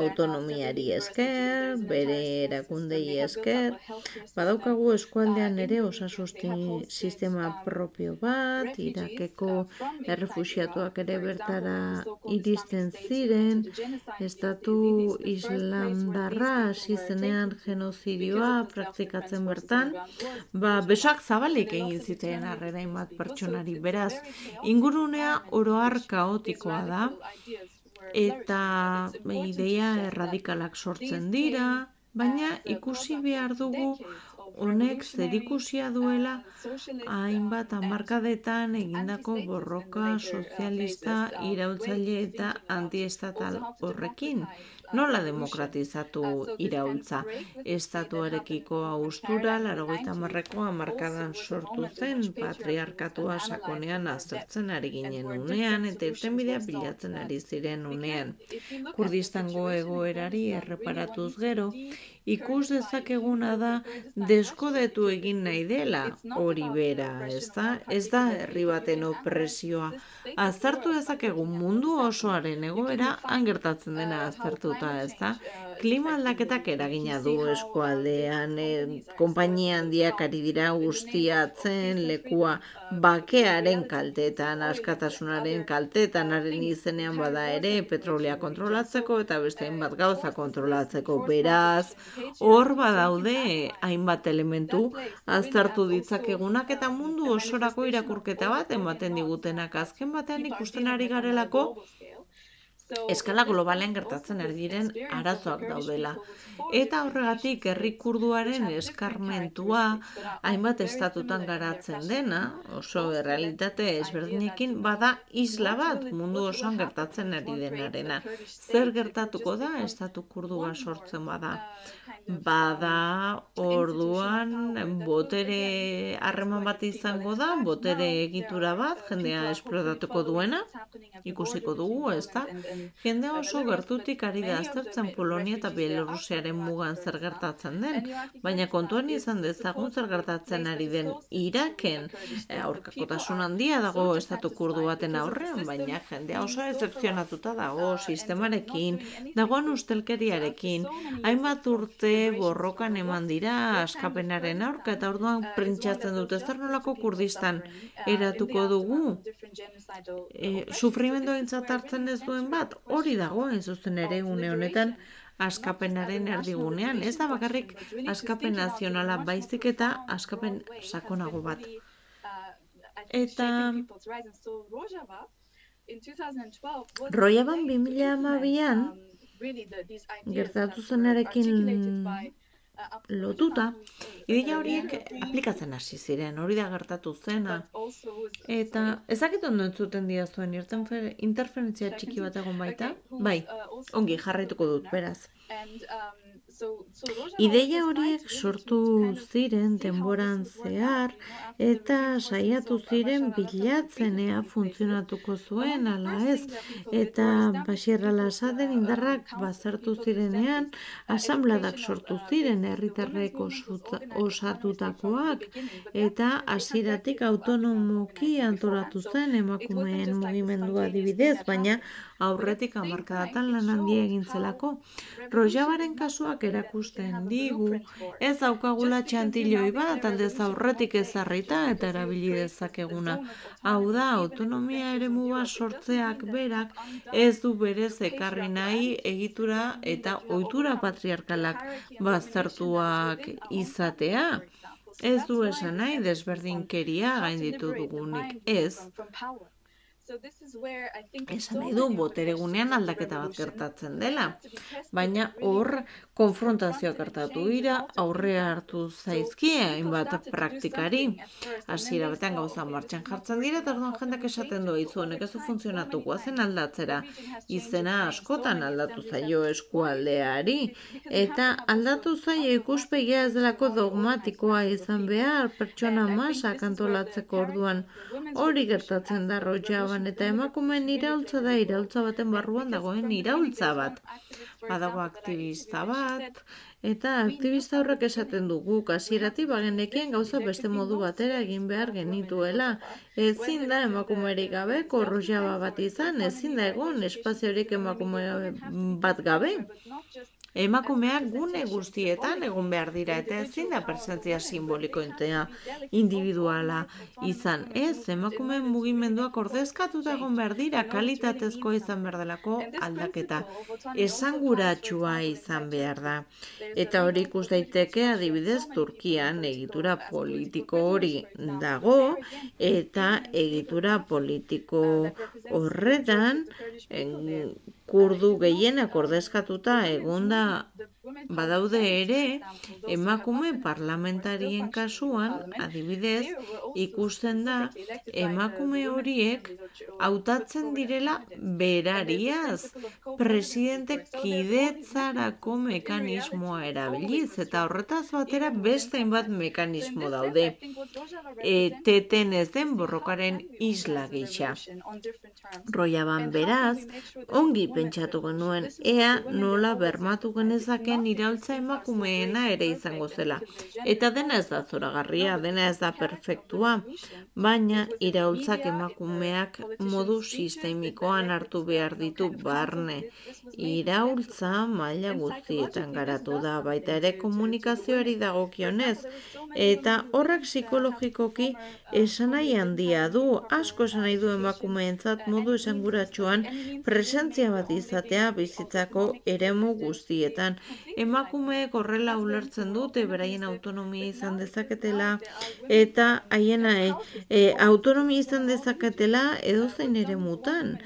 Autonomiari esker, bere erakundei esker, badaukagu eskualdean ere osasun sistema propio bat, Irakeko errefuxiatuak ere bertara iristen ziren, estatu islamdarra hasi zenean genozidioa praktikatzen bertan, besak zabalik egin ziteen harrera pertsonari, beraz, ingurunea oroar kaotikoa da, eta ideia erradikalak sortzen dira, baina ikusi behar dugu honek zerikusia duela hainbat hamarkadetan egindako borroka sozialista iraultzaile eta antiestatal horrekin. Nola demokratizatu iraultza? Estatuarekiko haustura 80ko hamarkadan sortu zen, patriarkatua sakonean aztertzen ari ginen unean eta irtenbidea bilatzen ari ziren unean. Kurdistango egoerari erreparatuz gero, ikus dezakeguna da deskodetu egin nahi dela hori bera, ezta? Ez da herri baten opresioa. Aztertu dezakegu mundu osoaren egoera gertatzen dena aztertuta, ezta? Klima aldaketak eragina du eskualdean, konpainia handiak ari dira guztiatzen lekua bakearen kaltetan, askatasunaren kaltetan, haren izenean bada ere petrolea kontrolatzeko eta beste hainbat gauza kontrolatzeko, beraz, hor badaude hainbat elementu aztertu ditzakegunak eta mundu osorako irakurketa bat ematen digutenak azken batean ikusten ari garelako eskala globalean gertatzen ari diren arazoak daudela. Eta horregatik herri kurduaren eskarmentua hainbat estatutan garatzen dena, oso errealitate ezberdinekin bada isla bat mundu osoan gertatzen ari denarena. Zer gertatuko da estatu kurdua sortzen bada? Bada orduan botere harreman bat izango da, botere egitura bat, jendea esplotatuko duena, ikusiko dugu, ezta? Jendea oso gertutik ari da aztertzen Polonia eta Bielorusiaren mugan zer gertatzen den, baina kontuan izan dezagun zer gertatzen ari den Iraken, aurkakotasun handia dago estatu kurdu baten aurrean, baina jendea oso ezepzionatuta dago sistemarekin, dagoen ustelkeriarekin, hainbat urte borrokan eman dira askapenaren aurka eta orduan prentsatzen dute zer nolako Kurdistan eratuko dugu. Sufrimendu aintzat hartzen ez duen bat, hori dago zuzen ere une honetan askapenaren erdigunean. Ez da bakarrik askapen nazionala baizik eta askapen sakonago bat. Eta Rojaban 2012an gertatu zenarekin lotuta, ideia horiek aplikatzen hasi ziren, hori da gertatu zena. Eta ezakit ondo entzuten diazuen interferentzia txiki bat egon baita? Bai, ongi jarraituko dut, beraz. Ideia horiek sortu ziren denboran zehar eta saiatu ziren bilatzen ea funtzionatuko zuen ala ez, eta Bashar al-Assaden indarrak bazertu zirenean asanbladak sortu ziren herritarrek osatutakoak eta hasieratik autonomoki antolatu zen emakumeen mugimendua adibidez, baina aurretik hamarkadatan lan handia egin zelako. Rojavaren kasuak erakusten digu, ez daukagula txantiloi bat, aldez aurretik ezarrita eta erabili dezakeguna. Hau da, autonomia eremu bat sortzeak berak ez du berez ekarri nahi egitura eta ohitura patriarkalak baztertuak izatea. Ez du esan nahi desberdinkeria gainditu dugunik, ez. Esan nahi du boteregunean aldaketa bat gertatzen dela, baina hor konfrontazioak gertatu dira, aurrea hartu zaizkie hainbat praktikari. Hasiera batean gauza martxan jartzen dira, eta orduan jendeak esaten du izu honek ez du funtzionatu, goazen aldatzera. Izena askotan aldatu zaio eskualdeari, eta aldatu zaio ikuspegia ez delako dogmatikoa izan behar, pertsona masak antolatzeko orduan. Hori gertatzen da Rojavan, eta emakumeen iraultza da iraultza baten barruan dagoen iraultza bat. Badago aktivista bat, eta aktivista horrek esaten dugu hasieratik bagenekien gauza beste modu batera egin behar genituela. Ezin da emakumerik gabe Rojava bat izan, ezin da egon espaziorik emakume bat gabe. Emakumeak gune guztietan egon behar dira eta ezin da presentzia simboliko individuala izan. Ez, emakumeen mugimendua ordezkatuta egon behar dira, kalitatezkoa izan behar delako aldaketa. Esanguratsua izan behar da. Eta hori ikus daiteke adibidez Turkian egitura politiko hori dago, eta egitura politiko horretan kurdu gehienak ordezkatuta egonda badaude ere, emakume parlamentarien kasuan, adibidez, ikusten da emakume horiek hautatzen direla berariaz, presidente kidetzarako mekanismoa erabiliz, eta horretaz batera beste hainbat mekanismo daude. Eteten ez den borrokaren isla gisa. Rojavan beraz, ongi pentsatu genuen, ea nola bermatu genezaken iraultza emakumeena ere izango zela. Eta dena ez da zoragarria, dena ez da perfektua, baina iraultzak emakumeak modu sistemikoan hartu behar ditu barne. Iraultza maila guztietan garatu da, baita ere komunikazioari dagokionez, eta horrek psikologikoki esanai handia du, asko esanai du emakumeentzat modu esanguratsuan presentzia bat izatea bizitzako eremu guztietan. Emakumeek horrela ulertzen dute beraien autonomia izan dezaketela eta haien autonomia izan dezaketela edozein eremutan.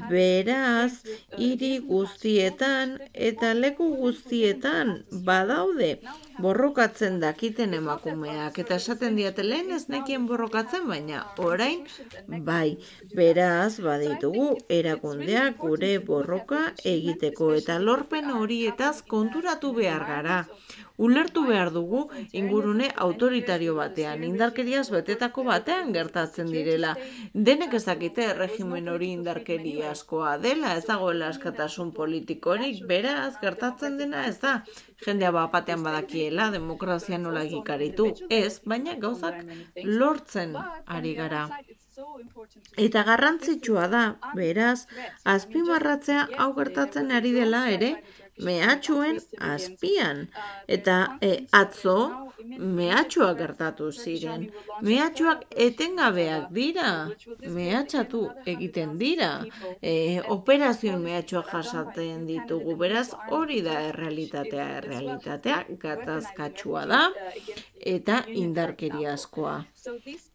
Beraz, hiri guztietan eta leku guztietan badaude borrokatzen dakiten emakumeak. Eta esaten diate lehen ez nekien borrokatzen, baina orain bai. Beraz, baditugu erakundeak gure borroka egiteko eta lorpen horietaz konturatu behar gara. Ulertu behar dugu ingurune autoritario batean, indarkeriaz betetako batean gertatzen direla. Denek ez dakite regimen hori indarkeriazkoa dela, ez dagoela askatasun politikorik, beraz gertatzen dena ez da. Jendea batean badakiela, demokrazia nola egikaritu, ez, baina gauzak lortzen ari gara. Eta garrantzitsua da, beraz, azpimarratzea hau gertatzen ari dela ere, mehatxuen azpian. Eta atzo mehatxuak gertatu ziren. Mehatxuak etengabeak dira. Mehatxatu egiten dira. Operazioen mehatxuak jasaten ditugu. Beraz, hori da errealitatea. Errealitatea gatazkatsua da eta indarkeriazkoa.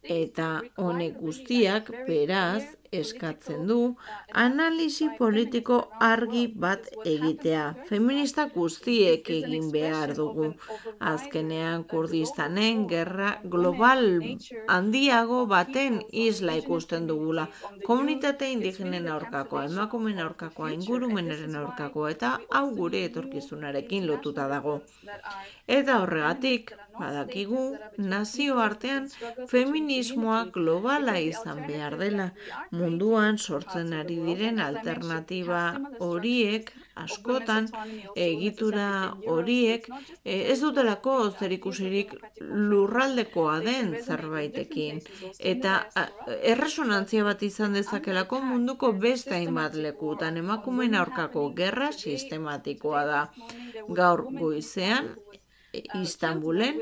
Eta honek guztiak, beraz, eskatzen du analisi politiko argi bat egitea. Feministak guztiek egin behar dugu. Azkenean Kurdistanen gerra global handiago baten isla ikusten dugula. Komunitate indigenen aurkakoa, emakumeen aurkakoa, ingurumenaren aurkakoa eta hau gure etorkizunarekin lotuta dago. Eta horregatik, badakigu nazioartean feminismoa globala izan behar dela. Munduan sortzen ari diren alternatiba horiek askotan egitura horiek ez dutelako zerikusirik lurraldekoa den zerbaitekin eta erresonantzia bat izan dezakelako munduko beste hainbat lekutan. Emakumeen aurkako gerra sistematikoa da. Gaur goizean Istanbulen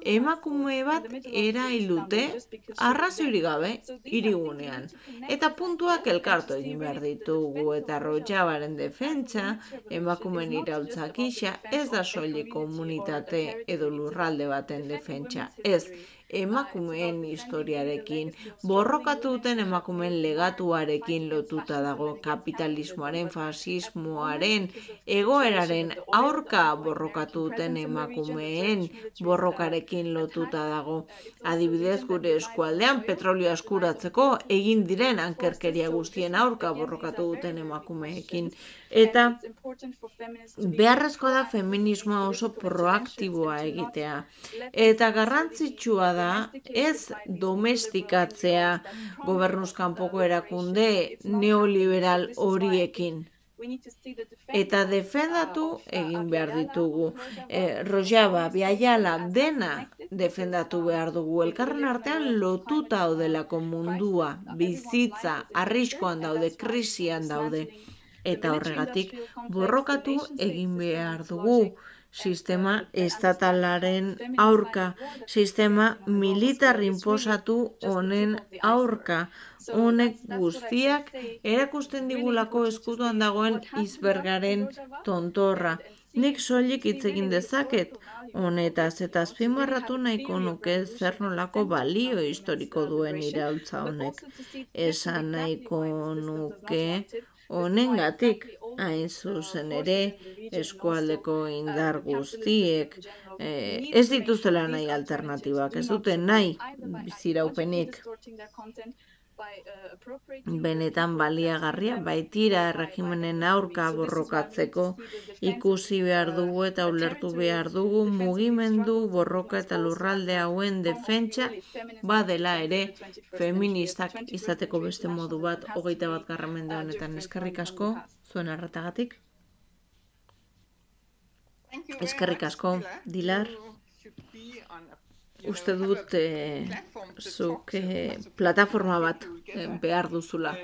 emakume bat erailute arrazoirik gabe hirigunean. Eta puntuak elkartu egin behar ditugu eta Rojavaren defentsa, emakumeen iraultza gisa, ez da soilik komunitate edo lurralde baten defentsa. Ez, emakumeen historiarekin, borrokatu duten emakumeen legatuarekin lotuta dago, kapitalismoaren, fasismoaren, egoeraren aurka borrokatu duten emakumeen borrokarekin lotuta dago. Adibidez, gure eskualdean petrolioa eskuratzeko egin diren ankerkeria guztien aurka borrokatu duten emakumeekin. Eta beharrezkoa da feminismoa oso proaktiboa egitea. Eta garrantzitsua da ez domestikatzea gobernuz kanpoko erakunde neoliberal horiekin. Eta defendatu egin behar ditugu. Rojava, Biaiala, dena defendatu behar dugu. Elkarren artean lotuta daudelako mundua, bizitza, arriskuan daude, krisian daude. Eta horregatik borrokatu egin behar dugu. Sistema estatalaren aurka, sistema militar inposatu honen aurka. Honek guztiak erakusten digulako eskutuan dagoen icebergaren tontorra. Nik soilik hitz egin dezaket honetaz eta azpimarratu nahiko nuke zer nolako balio historiko duen iraultza honek. Esan nahiko nuke honengatik hain zuzen ere eskualdeko indar guztiek ez dituztela nahi alternatibak, ez dute nahi biziraupenik. Benetan baliagarria baitira erregimenen aurka borrokatzeko ikusi behar dugu eta ulertu behar dugu mugimendu, borroka eta lurralde hauen defentsa badela ere feministak izateko beste modu bat 21. mende honetan. Eskerrik asko zuen arretagatik. Eskerrik asko, Dilar. Uste dut zuk plataforma bat behar duzula.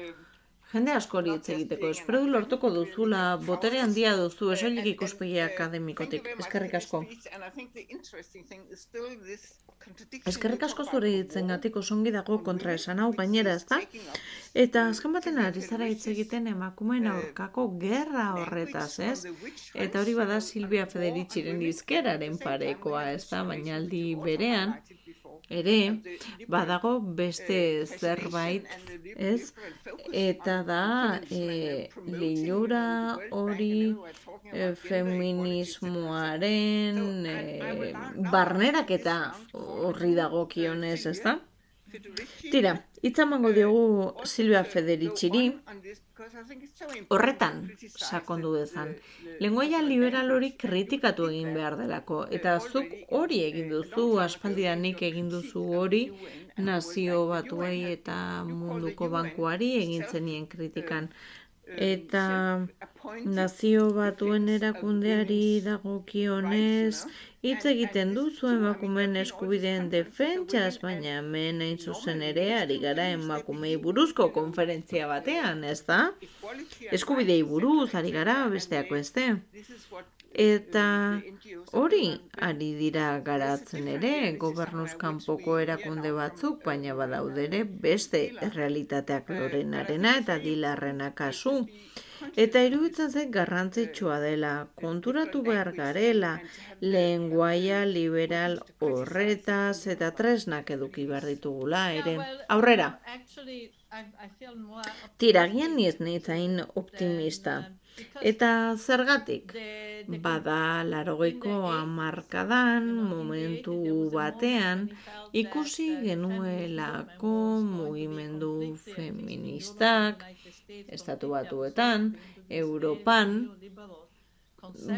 Jende askori hitz egiteko, espero du lortuko duzula, botere handia duzu, esoilik ikuspegi akademikotik. Eskerrik asko. Eskerrik asko zure hitzengatik osongi dago kontra esan hau gainera, ezta? Eta azken baten ari zara hitz egiten emakumeen aurkako gerra horretaz, ez? Eta hori bada Silvia Federiciren hizkeraren parekoa, ezta? Baina aldi berean ere badago beste zerbait, ez? Eta da linura hori feminismoaren barneraketa horri dagokionez, ezta? Tira, hitz emango diogu Silvia Federiciri horretan sakondu dezan. Lengoaia liberal hori kritikatu egin behar delako, eta zuk hori egin duzu, aspaldidanik egin duzu hori, Nazio Batuei eta Munduko Bankuari egin zenien kritikan. Eta Nazio Batuen erakundeari dagokionez hitz egiten duzu emakumeen eskubideen defentsaz, baina hemen hain zuzen ere ari gara emakumei buruzko konferentzia batean, ez da? Eskubidei buruz ari gara besteak beste. Eta hori ari dira garatzen ere gobernuz kanpoko erakunde batzuk, baina badaudere beste errealitateak Lorenarena eta Dilarrena kasu. Eta iruditzen zen garrantzitsua dela, konturatu behar garela, lengoaia liberal horretaz eta tresnak eduki behar ditugula ere. Aurrera! Tiragian niz hain optimista. Eta zergatik? Bada 80ko hamarkadan momentu batean ikusi genuelako mugimendu feministak Estatu Batuetan, Europan,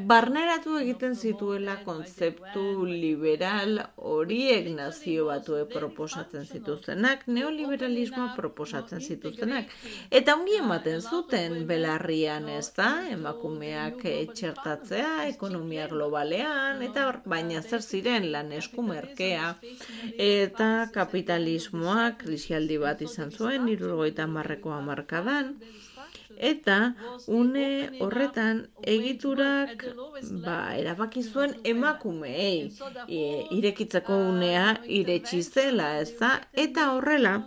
barneratu egiten zituela kontzeptu liberal horiek nazio batue proposatzen zituztenak, neoliberalismoa proposatzen zituztenak. Eta ongi ematen zuten belarrian, ez da, emakumeak txertatzea, ekonomia globalean, eta baina zer ziren lan esku merkea, eta kapitalismoak krisialdi bat izan zuen, 70ko hamarkadan, eta une horretan egiturak erabaki zuen emakumeei irekitzeko unea iretsi zela, ez da? Eta horrela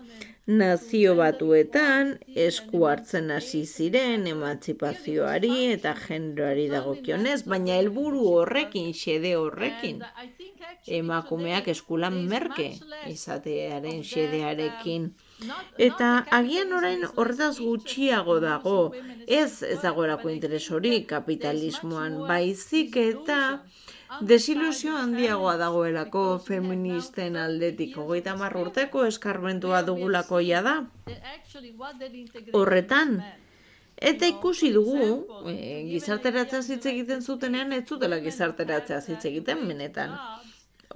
nazio batuetan esku hartzen hasi ziren emantzipazioari eta generoari dagokionez, baina helburu horrekin, xede horrekin, emakumeak eskulan merke izatearen xedearekin. Eta agian orain horretaz gutxiago dago, ez dagoelako interes hori kapitalismoan, baizik eta desilusio handiagoa dagoelako feministen aldetik. 30 urteko eskarmentua dugulako da horretan. Eta ikusi dugu, gizarteratzea hitz egiten zutenean, ez zutela gizarteratzea hitz egiten benetan.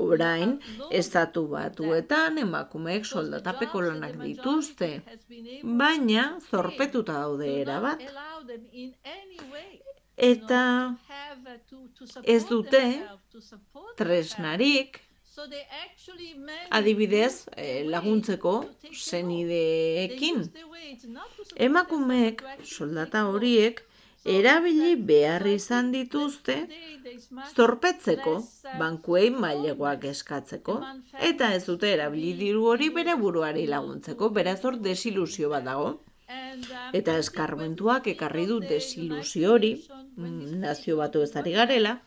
Orain, estatu batuetan emakumeek soldatapeko lanak dituzte, baina zorpetuta daude erabat. Eta ez dute tresnarik, adibidez, laguntzeko senideekin. Emakumeek, soldata horiek, erabili behar izan dituzte zorpetzeko, bankuei mailegoak eskatzeko, eta ez dute erabili diru hori bere buruari laguntzeko, beraz hor desilusio bat dago. Eta eskarmentuak ekarri du desilusio hori, nazio batu ez ari garela,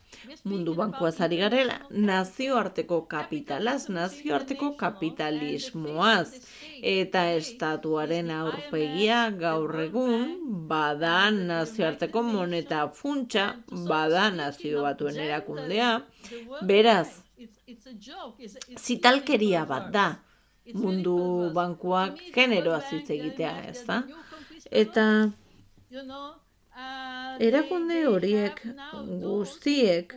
mundu bankuaz ari garela, nazioarteko kapitalaz, nazioarteko kapitalismoaz, eta estatuaren aurpegia gaur egun, bada nazioarteko moneta funtsa, bada nazio batuen erakundea, beraz, zitalkeria bat da, mundu bankuak generoaz hitz egitea, ez da? Eta erakunde horiek guztiek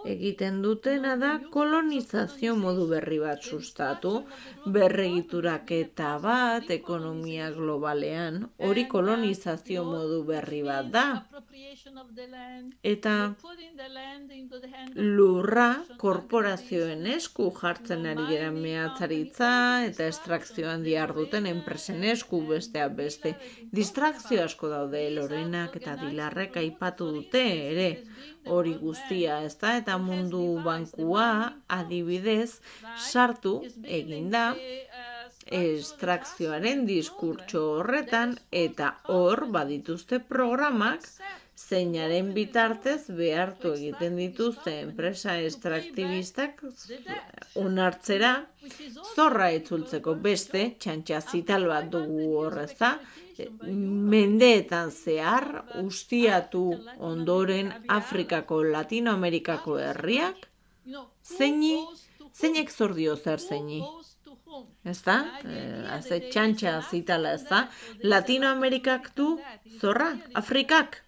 egiten dutena da kolonizazio modu berri bat sustatu, berregituraketa bat ekonomia globalean, hori kolonizazio modu berri bat da. Eta lurra korporazioen esku jartzen ari gara mehatzaritza eta estrakzioan diharduten enpresen esku besteak beste. Distrakzio asko daude Lorenak eta Dilarrek aipatu dute ere hori guztia, ez da? Eta mundu bankua adibidez sartu eginda estrakzioaren diskurtso horretan eta hor badituzte programak zeinaren bitartez behartu egiten dituzte enpresa estraktibistak onartzera zorra itzultzeko beste txantxa zital bat dugu horreza, mendeetan zehar ustiatu ondoren Afrikako, Latinoamerikako herriak, zeinek zor dio zer zeini. Ez da? Haze txantxa zitala, ez da? Latinoamerikak du zorra, Afrikak.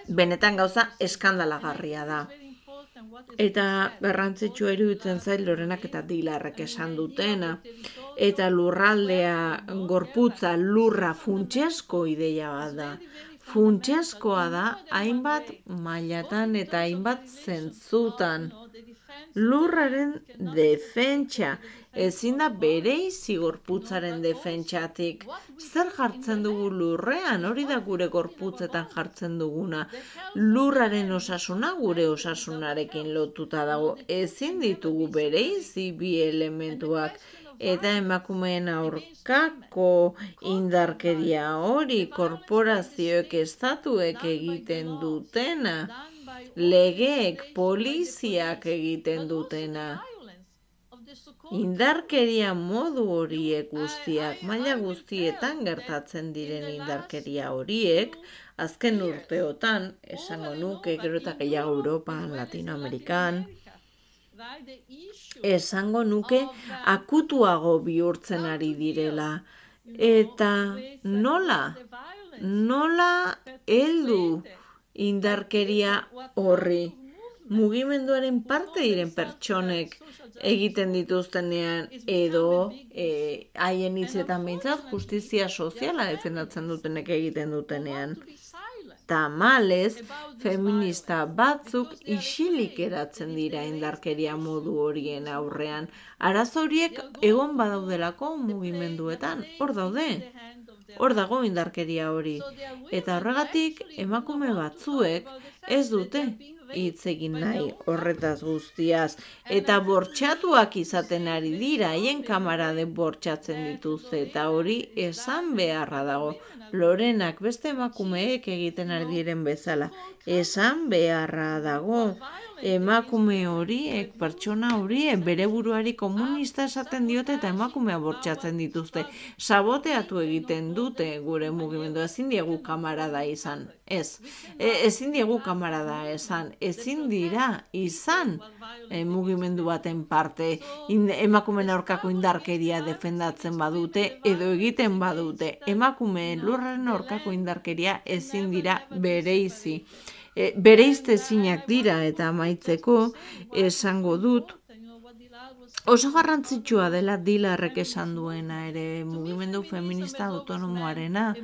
Benetan gauza eskandalagarria da. Eta garrantzitsua iruditzen zait Lorenak eta Dilarrek esan dutena. Eta lurraldea gorputza lurra funtsesko ideia bat da. Funtseskoa da hainbat mailatan eta hainbat zentzutan. Lurraren defentsa, ezin da bereizi gorputzaren defentsatik. Zer jartzen dugu lurrean, hori da gure gorputzetan jartzen duguna. Lurraren osasuna gure osasunarekin lotuta dago. Ezin ditugu bereizi bi elementuak. Eta emakumeen aurkako indarkeria hori korporazioek estatuek egiten dutena. Legeek, poliziak egiten dutena. Indarkeria modu horiek guztiak, maila guztietan gertatzen diren indarkeria horiek, azken urteotan, esango nuke, gero eta gehiago Europan, Latinoamerikan, esango nuke akutuago bihurtzen ari direla. Eta nola? nola heldu indarkeria horri. Mugimenduaren parte diren pertsonek egiten dituztenean edo haien hitzetan behintzat justizia soziala defendatzen dutenek egiten dutenean. Tamalez, feminista batzuk isilik geratzen dira indarkeria modu horien aurrean. Arazo horiek egon badaudelako mugimenduetan, hor daude. Hor dago indarkeria hori. Eta horregatik emakume batzuek ez dute hitz egin nahi horretaz guztiaz. Eta bortxatuak izaten ari dira, haien kamarade bortxatzen dituzte, eta hori esan beharra dago. Lorenak beste emakumeek egiten ari diren bezala. Esan beharra dago. Emakume horiek, pertsona horiek, bere buruari komunista esaten diote eta emakumea bortxatzen dituzte. Saboteatu egiten dute gure mugimendu. Ezin diegu kamarada izan. Ez. Ezin diegu kamarada esan. Ezin dira izan mugimendu baten parte. Emakumeen aurkako indarkeria defendatzen badute edo egiten badute. Emakumeen lurraren aurkako indarkeria ezin dira bereizi. Bereiztezinak dira eta amaitzeko esango dut. Oso garrantzitsua dela Dilarrek esan duena ere mugimendu feminista autonomoarena.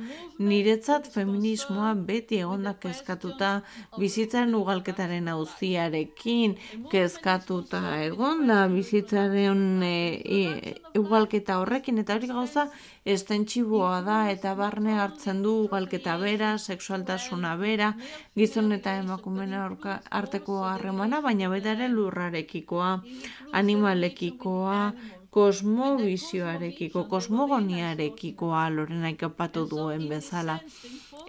Niretzat feminismoa beti egonda kezkatuta bizitzaren ugalketaren auziarekin kezkatuta egonda bizitzaren ugalketa horrekin eta hori gauza estentsiboa da eta barne hartzen du ugalketa bera, sexualtasuna bera, gizon eta emakumeen arteko harremana, baina baita ere lurrarekikoa, animalekikoa, kosmobizioarekiko, kosmogoniarekikoa Lorenak aipatu duen bezala.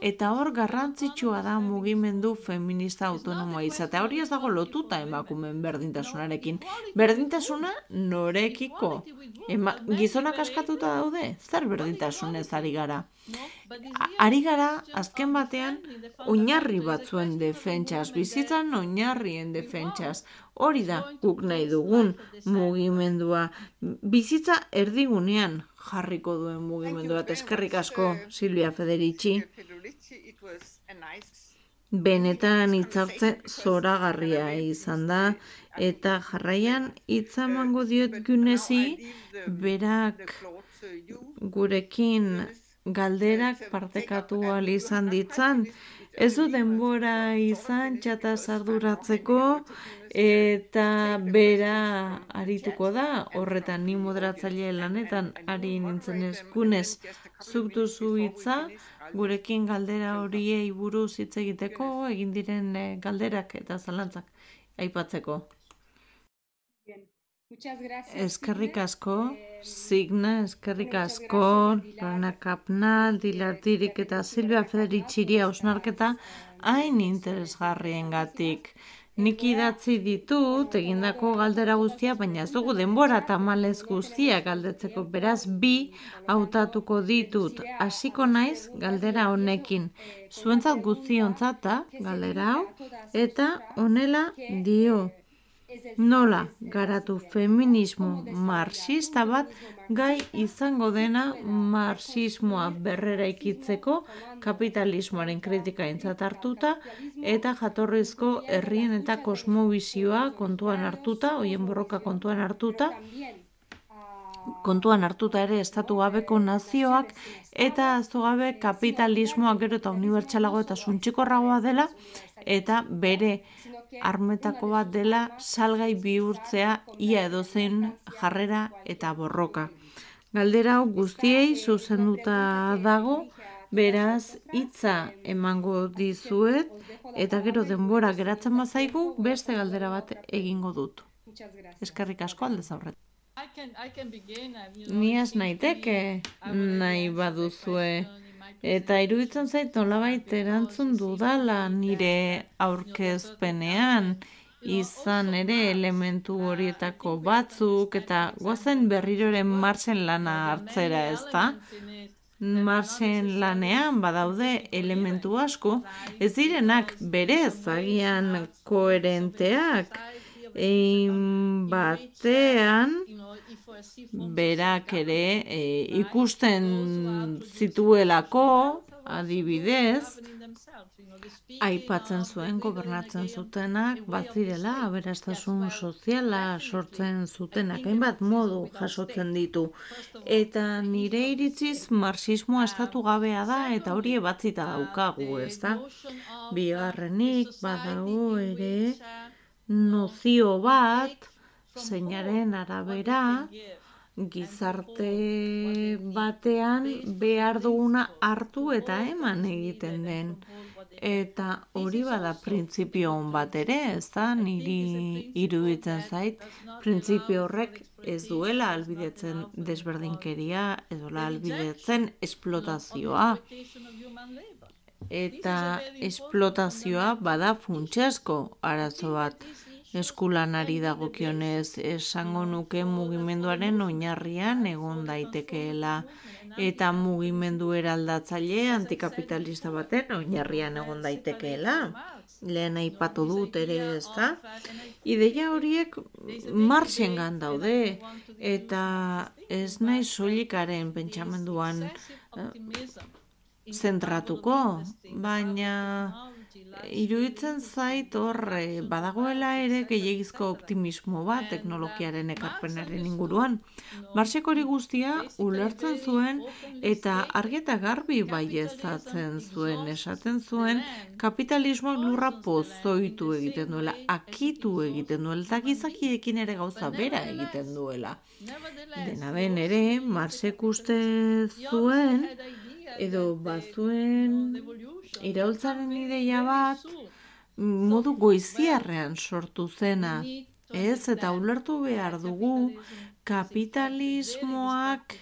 Eta hor garrantzitsua da mugimendu feminista autonomoa izatea. Hori ez dago lotuta emakumeen berdintasunarekin. Berdintasuna norekiko. Gizonak askatuta daude? Zer berdintasunez ari gara? Ari gara, azken batean, oinarri batzuen defentsaz, bizitzan oinarrien defentsaz. Hori da guk nahi dugun mugimendua. Bizitza erdigunean jarriko duen mugimendu bat. Eskerrik asko, Silvia Federici. Benetan hitzartze zoragarria izan da, eta jarraian hitza emango diot Gunesi, berak gurekin galderak partekatu ahal izan ditzan. Ez du denbora izan txataz arduratzeko eta bera arituko da, horretan ni moderatzaile lanetan ari nintzen eskunez. Zuk duzu hitza, gurekin galdera horiei buruz hitz egiteko, egin diren galderak eta zalantzak aipatzeko. Eskerrik asko, Signa, eskerrik asko, Lorena Kapnal, Dilar Dirik eta Silvia Federiciri hausnarketa hain interesgarriengatik. Nik idatzi ditut egindako galdera guztia, baina ez dugu denbora tamalez guztia galdetzeko, beraz bi hautatuko ditut. Hasiko naiz galdera honekin. Zuentzat guztiontzat da galdera hau eta honela dio. Nola garatu feminismo marxista bat gai izango dena marxismoa berreraikitzeko kapitalismoaren kritika aintzat hartuta eta jatorrizko herrien eta kosmobizioa kontuan hartuta, hoien borroka kontuan hartuta ere estatu gabeko nazioak eta ahaztu gabe kapitalismoa gero eta unibertsalago eta suntsikorragoa dela eta bere armetako bat dela salgai bihurtzea ia edozein jarrera eta borroka. Galdera hau guztiei zuzenduta dago, beraz hitza emango dizuet eta gero denbora geratzen bazaigu beste galdera bat egingo dut. Eskerrik asko aldez aurretik. Ni ez naiteke nahi baduzue. Eta iruditzen zait nolabait erantzun dudala nire aurkezpenean izan ere elementu horietako batzuk eta goazen berriroren Marxen lana hartzera, ezta? Marxen lanean badaude elementu asko, ez direnak berez agian koherenteak, batean berak ere ikusten zituelako adibidez, aipatzen zuen gobernatzen zutenak bazirela aberastasun soziala sortzen zutenak, hainbat modu jasotzen ditu. Eta nire iritziz marxismoa estatu gabea da eta hori ebatzita daukagu, ez da? Bigarrenik badago ere nozio bat, zeinaren arabera, gizarte batean behar duguna hartu eta eman egiten den. Eta hori bada printzipio on bat ere, ez da, niri iruditzen zait, printzipio horrek ez duela ahalbidetzen desberdinkeria, ez duela ahalbidetzen esplotazioa. Eta esplotazioa bada funtsezko arazo bat. Eskulanari dagokionez esango nuke mugimenduaren oinarrian egon daitekeela eta mugimendu eraldatzaile antikapitalista baten oinarrian egon daitekeela. Lehen aipatu dut ere, ez da? Ideia horiek Marxengan daude eta ez naiz soilikaren pentsamenduan zentratuko, baina iruditzen zait hor badagoela ere gehiegizko optimismo bat teknologiaren ekarpenaren inguruan. Marxek hori guztia ulertzen zuen eta argi eta garbi baieztatzen zuen, esaten zuen kapitalismoak lurra pozoitu egiten duela, akitu egiten duela eta gizakiekin ere gauza bera egiten duela. Dena den ere, Marxek uste zuen edo bazuen iraultzaren ideia bat modu goiziarrean sortu zena, ez? Eta ulertu behar dugu kapitalismoak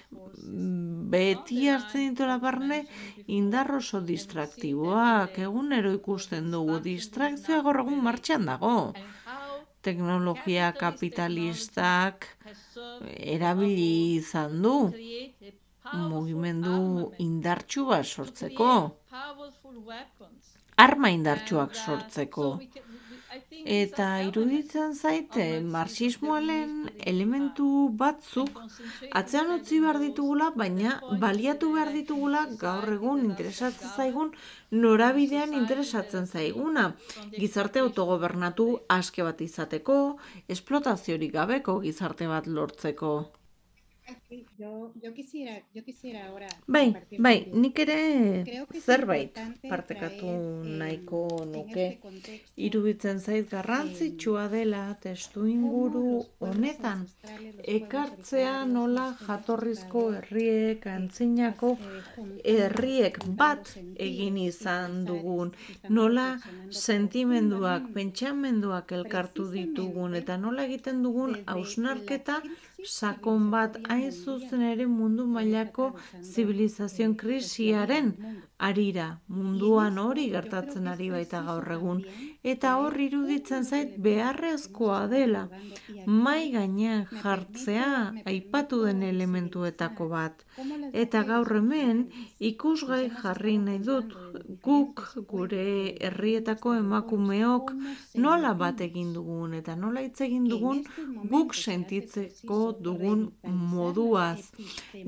beti hartzen dituela barne indar oso distraktiboak, egunero ikusten dugu, distrakzioa gaur egun martxan dago. Teknologia kapitalistak erabili izan du mugimendu indartsu bat sortzeko, arma indartsuak sortzeko. Eta iruditzen zaite marxismoaren elementu batzuk atzean utzi behar ditugula, baina baliatu behar ditugula gaur egun interesatzen zaigun norabidean interesatzen zaiguna. Gizarte autogobernatu aske bat izateko, esplotaziorik gabeko gizarte bat lortzeko. Yo quisiera ahora Bai, nik ere zerbait partekatu nahiko nuke. Iruditzen zait garrantzitsua dela testu inguru honetan ekartzea nola jatorrizko herriek, antzinako herriek bat egin izan dugun, nola sentimenduak, pentsamenduak elkartu ditugun eta nola egiten dugun hausnarketa sakon bat hain zuzen ere mundu mailako zibilizazioen krisiaren arira. Munduan hori gertatzen ari baita gaur egun. Eta hor iruditzen zait beharrezkoa dela mahai gainean jartzea aipatu den elementuetako bat. Eta gaur hemen ikusgai jarri nahi dut guk gure herrietako emakumeok nola bat egin dugun eta nola hitz egin dugun guk sentitzeko dugun moduaz.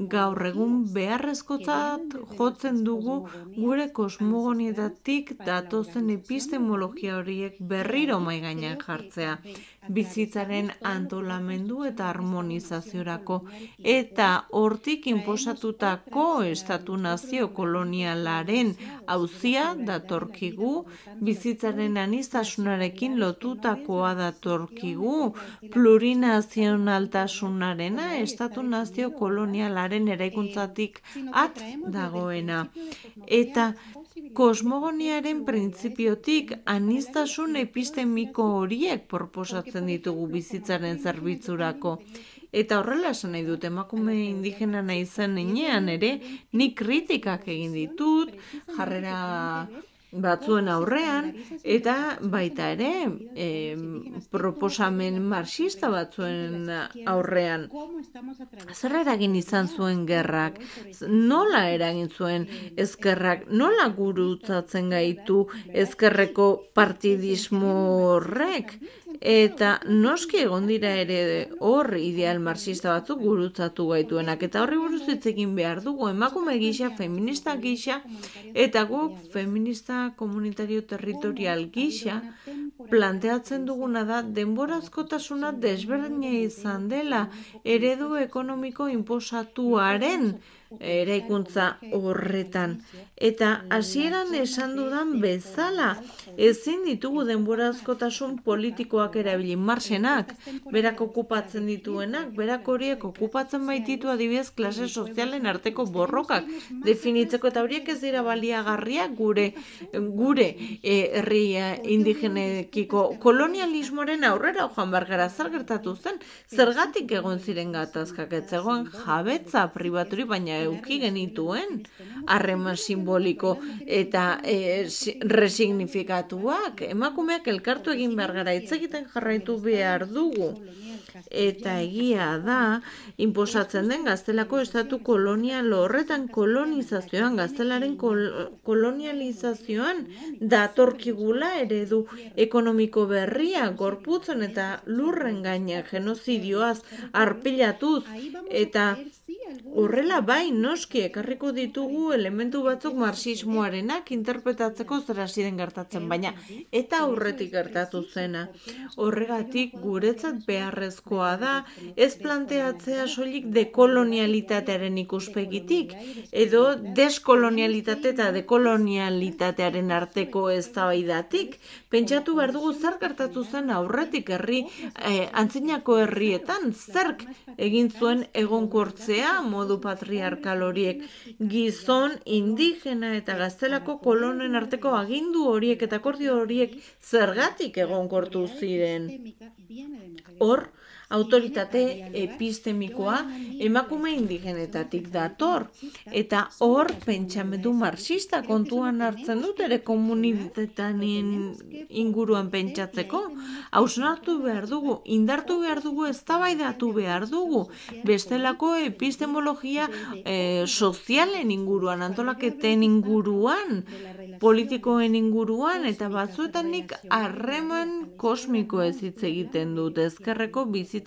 Gaur egun beharrezkotzat jotzen dugu gure kosmogonietatik datozen epistemologia horiek berriro mahai gainean jartzea. Bizitzaren antolamendu eta harmonizaziorako eta hortik inposatutako estatu-nazio kolonialaren auzia datorkigu, bizitzaren aniztasunarekin lotutakoa datorkigu, plurinazionaltasunarena estatu-nazio kolonialaren eraikuntzatik at dagoena. Eta kosmogoniaren printzipiotik aniztasun epistemiko horiek proposatzen ditugu bizitzaren zerbitzurako. Eta horrela esan nahi dut, emakume indigena nahi zen enean ere, nik kritikak egin ditut, jarrera batzuen aurrean, eta baita ere proposamen marxista batzuen aurrean. Zer eragin izan zuen gerrak? Nola eragin zuen ezkerrak? Nola gurutzatzen gaitu ezkerreko partidismo horrek? Eta noski egon dira ere hor ideal marxista batzuk gurutzatu gaituenak, eta horri buruz hitz egin behar dugu, emakume gisa, feminista gisa, eta guk feminista komunitario territorial gisa planteatzen duguna da denborazkotasuna desberdina izan dela eredu ekonomiko inposatuaren eraikuntza horretan. Eta hasieran esan dudan bezala, ezin ditugu denborazkotasun politikoak erabili. Marxenak, berak okupatzen dituenak, berak horiek okupatzen baititu adibidez klase sozialen arteko borrokak definitzeko, eta horiek ez dira baliagarriak gure herri indigenekiko kolonialismoaren aurrera joan bargara. Zer gertatu zen, zergatik egon ziren gatazkak, ez zegoen jabetza pribaturi, baina euki genituen harreman simboliko eta resignifikatuak. Emakumeak elkartu egin behar gara, hitz egiten jarraitu behar dugu. Eta egia da, inposatzen den gaztelako estatu kolonial horretan kolonizazioan, gaztelaren kolonializazioan datorkigula eredu ekonomiko berria, gorputzen eta lurren gaina genozidioaz arpilatuz, eta horrela bai, noski ekarriko ditugu elementu batzuk marxismoarenak interpretatzeko zer hasi den gertatzen, baina eta aurretik gertatu zena. Horregatik guretzat beharrezkoa da ez planteatzea soilik dekolonialitatearen ikuspegitik, edo deskolonialitate eta dekolonialitatearen arteko eztabaidatik. Pentsatu behar dugu zer gertatu zen aurretik antzinako herrietan, zerk egin zuen egonkortzea modu patriarkal horiek, gizon, indigena eta gaztelako kolonen arteko agindu horiek eta akordio horiek zergatik egonkortu ziren. Hor, autoritate epistemikoa emakume indigenetatik dator, eta hor pentsamendu marxista kontuan hartzen dut ere komunitateen inguruan pentsatzeko. Hausnartu behar dugu, indartu behar dugu, eztabaidatu behar dugu, bestelako epistemologia sozialen inguruan, antolaketen inguruan, politikoen inguruan, eta batzuetan nik harreman kosmiko ez hitz egiten dut, ezkerreko bizitzako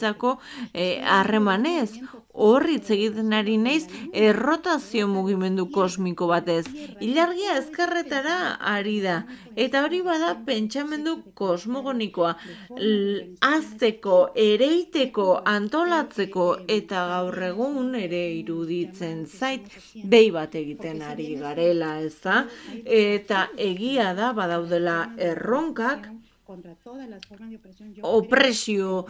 harremanez. Hor hitz egiten ari naiz errotazio mugimendu kosmiko batez. Ilargia ezkerretara ari da, eta hori bada pentsamendu kosmogonikoa, hazteko, ereiteko, antolatzeko, eta gaur egun ere iruditzen zait behi bat egiten ari garela, ez da? Eta egia da badaudela erronkak, opresio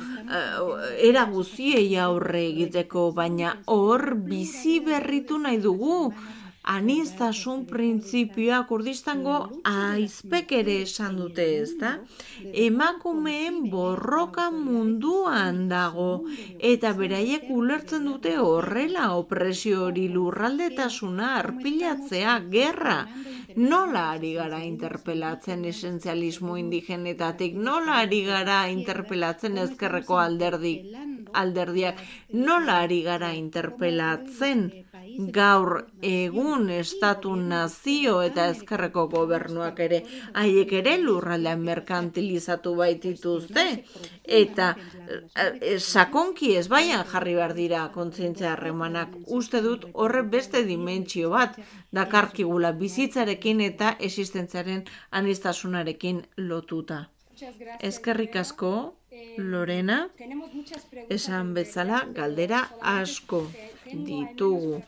era guziei aurre egiteko, baina hor bizi berritu nahi dugu. Aniztasun printzipioa Kurdistango aizpek ere esan dute, ez da? Emakumeen borroka munduan dago, eta beraiek ulertzen dute horrela opresio hori, lurraldetasuna, arpilatzea, gerra. Nola ari gara interpelatzen esentzialismo indigenetatik, nola ari gara interpelatzen ezkerreko alderdiak, nola ari gara interpelatzen gaur egun estatu nazio eta ezkerreko gobernuak ere, haiek ere lurraldean merkantilizatu baitituzte, eta sakonki ez baian jarri behar dira kontzientzia harremanak. Uste dut horre beste dimentsio bat dakarkigula bizitzarekin eta existentziaren aniztasunarekin lotuta. Eskerrik asko, Lorena, esan bezala galdera asko ditugu.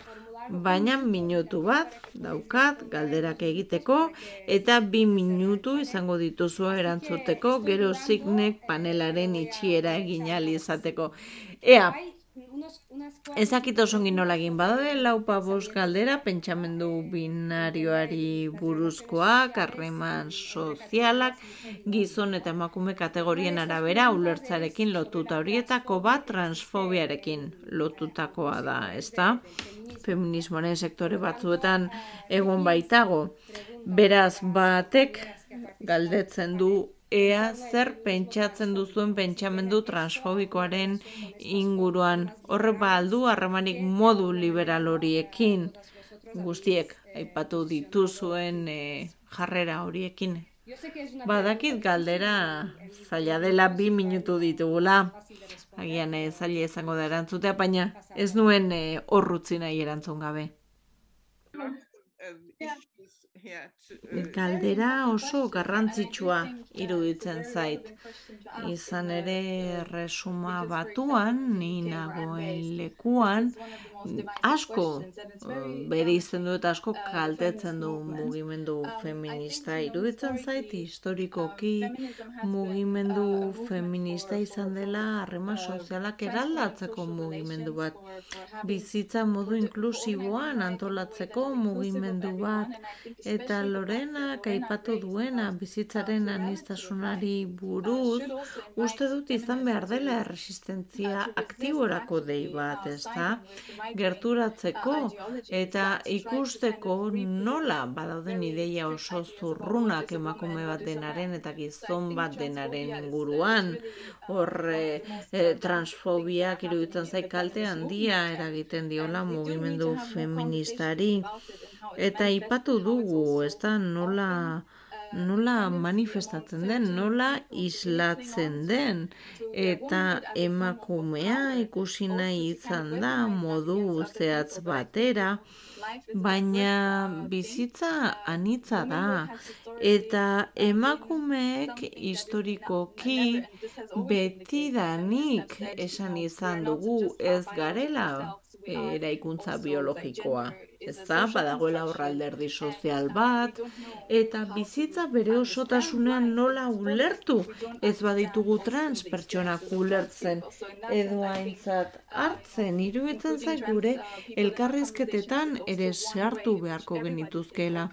Baina minutu bat daukat galderak egiteko, eta 2 minutu izango dituzu erantzuteko, gero Signek panelaren itxiera egin ahal izateko. Ea, ezakit osongi nola egin badaude, 4-5 galdera, pentsamendu binarioari buruzkoak, harreman sozialak, gizon eta emakume kategorien arabera ulertzarekin lotuta, horietako bat transfobiarekin lotutakoa da, ezta? Feminismoaren sektore batzuetan egon baitago. Beraz, batek galdetzen du ea zer pentsatzen duzuen pentsamendu transfobikoaren inguruan. Horre aldu harremanik modu liberal horiekin, guztiek aipatu dituzuen jarrera horiekin. Badakit galdera zaila dela 2 minutu ditugula. Agian zaila izango da erantzutea, baina ez nuen horrutzi nahi erantzun gabe. Galdera oso garrantzitsua iruditzen zait. Izan ere resuma batuan, ni nagoen lekuan, asko bereizten du eta asko kaltetzen du mugimendu feminista. Iruditzen zait historikoki mugimendu feminista izan dela harreman sozialak eraldatzeko mugimendu bat. Bizitza modu inklusiboan antolatzeko mugimendu bat. Eta Lorenak aipatu duena bizitzaren aniztasunari buruz, uste dut izan behar dela erresistentzia aktiborako dei bat, ezta? Gerturatzeko eta ikusteko nola badauden ideia oso zurrunak emakume bat denaren eta gizon bat denaren inguruan. Hor transfobiak iruditzen zait kalte handia eragiten diola mugimendu feministari. Eta aipatu dugu, ezta, nola manifestatzen den, nola islatzen den, eta emakumea ikusi nahi izan da modu zehatz batera, baina bizitza anitza da, eta emakumeek historikoki betidanik esan izan dugu ez garela eraikuntza biologikoa. Ez da, badagoela horralderdi sozial bat, eta bizitza bere osotasunean nola ulertu, ez baditugu trans pertsonak ulertzen, edo aintzat hartzen, iruditzen zait gure elkarrizketetan ere sartu beharko genituzkeela,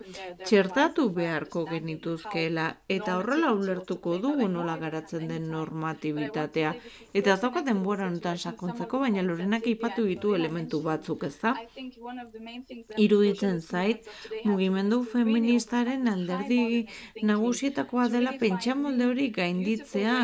txertatu beharko genituzkeela, eta horrela ulertuko dugu nola garatzen den normatibitatea. Eta ez daukat denbora honetan sakontzeko, baina Lorenak aipatu ditu elementu batzuk, ez da? Iruditzen zait, mugimendu feministaren alderdi nagusietakoa dela pentsamolde hori gainditzea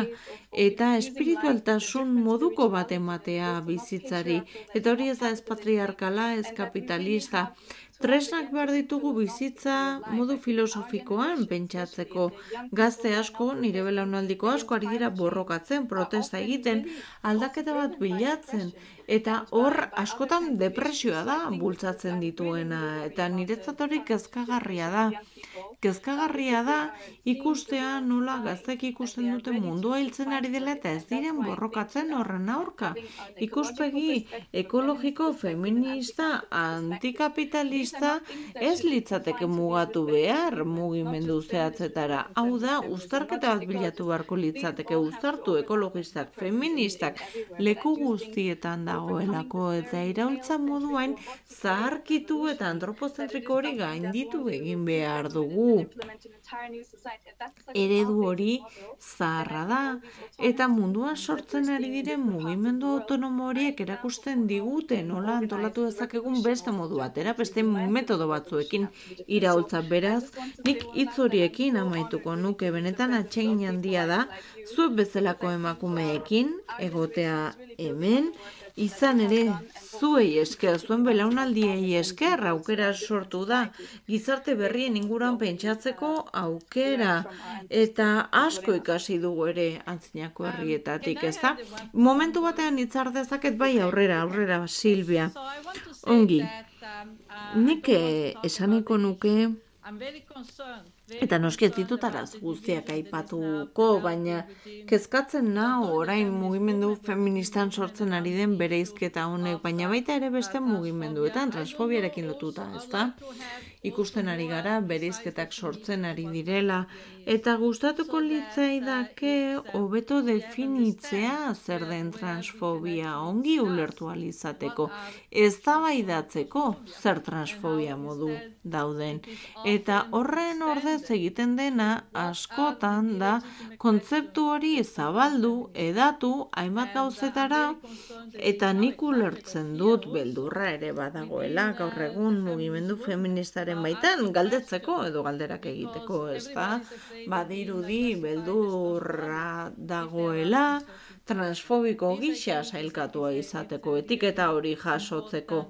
eta espiritualtasun moduko bat ematea bizitzari. Eta hori ez da ez patriarkala, ez kapitalista. Tresnak behar ditugu bizitza modu filosofikoan pentsatzeko. Gazte asko, nire belaunaldiko asko ari dira borrokatzen, protesta egiten, aldaketa bat bilatzen. Eta hor askotan depresioa da bultzatzen dituena. Eta niretzat hori kezkagarria da. Kezkagarria da ikustea nola gaztek ikusten duten mundua hiltzen ari dela eta ez diren borrokatzen horren aurka. Ikuspegi ekologiko, feminista, antikapitalista ez litzateke mugatu behar mugimendu zehatzetara. Hau da, uztarketa bat bilatu beharko litzateke, uztartu ekologistak, feministak, leku guztietan dagoelako eta iraultza moduan zaharkitu eta antropozentriko hori gainditu egin behar dugu. Eredu hori zaharra da eta munduan sortzen ari diren mugimendu autonomo horiek erakusten digute nola antolatu dezakegun beste modu batera, beste metodo batzuekin iraultza. Beraz, nik hitz horiekin amaituko nuke, benetan atsegin handia da zuek bezalako emakumeekin egotea hemen, izan ere zuei esker, zuen belaunaldiei esker aukera sortu da, gizarte berrien inguruan pentsatzeko aukera, eta asko ikasi dugu ere antzinako herrietatik, ez da? Momentu batean hitzar dezaket bai aurrera, Silvia. Ongi, nik esaneko nuke, eta noski ez ditut araz guztiak aipatuko, baina kezkatzen nau orain mugimendu feministan sortzen ari den bereizketa honek, baina baita ere beste mugimenduetan transfobiarekin lotuta, ez da? Ikusten ari gara, bereizketak sortzen ari direla, eta gustatuko litzaidake hobeto definitzea zer den transfobia ongi ulertu ahal izateko, eztabaidatzeko zer transfobia modu dauden. Eta horren ordez egiten dena askotan da kontzeptu hori zabaldu, edatu, hainbat gauzetara, eta nik ulertzen dut beldurra ere badagoela gaur egun mugimendu feministaren baitan galdetzeko edo galderak egiteko, ez da? Badirudi beldurra dagoela transfobiko gisa sailkatua izateko, etiketa hori jasotzeko.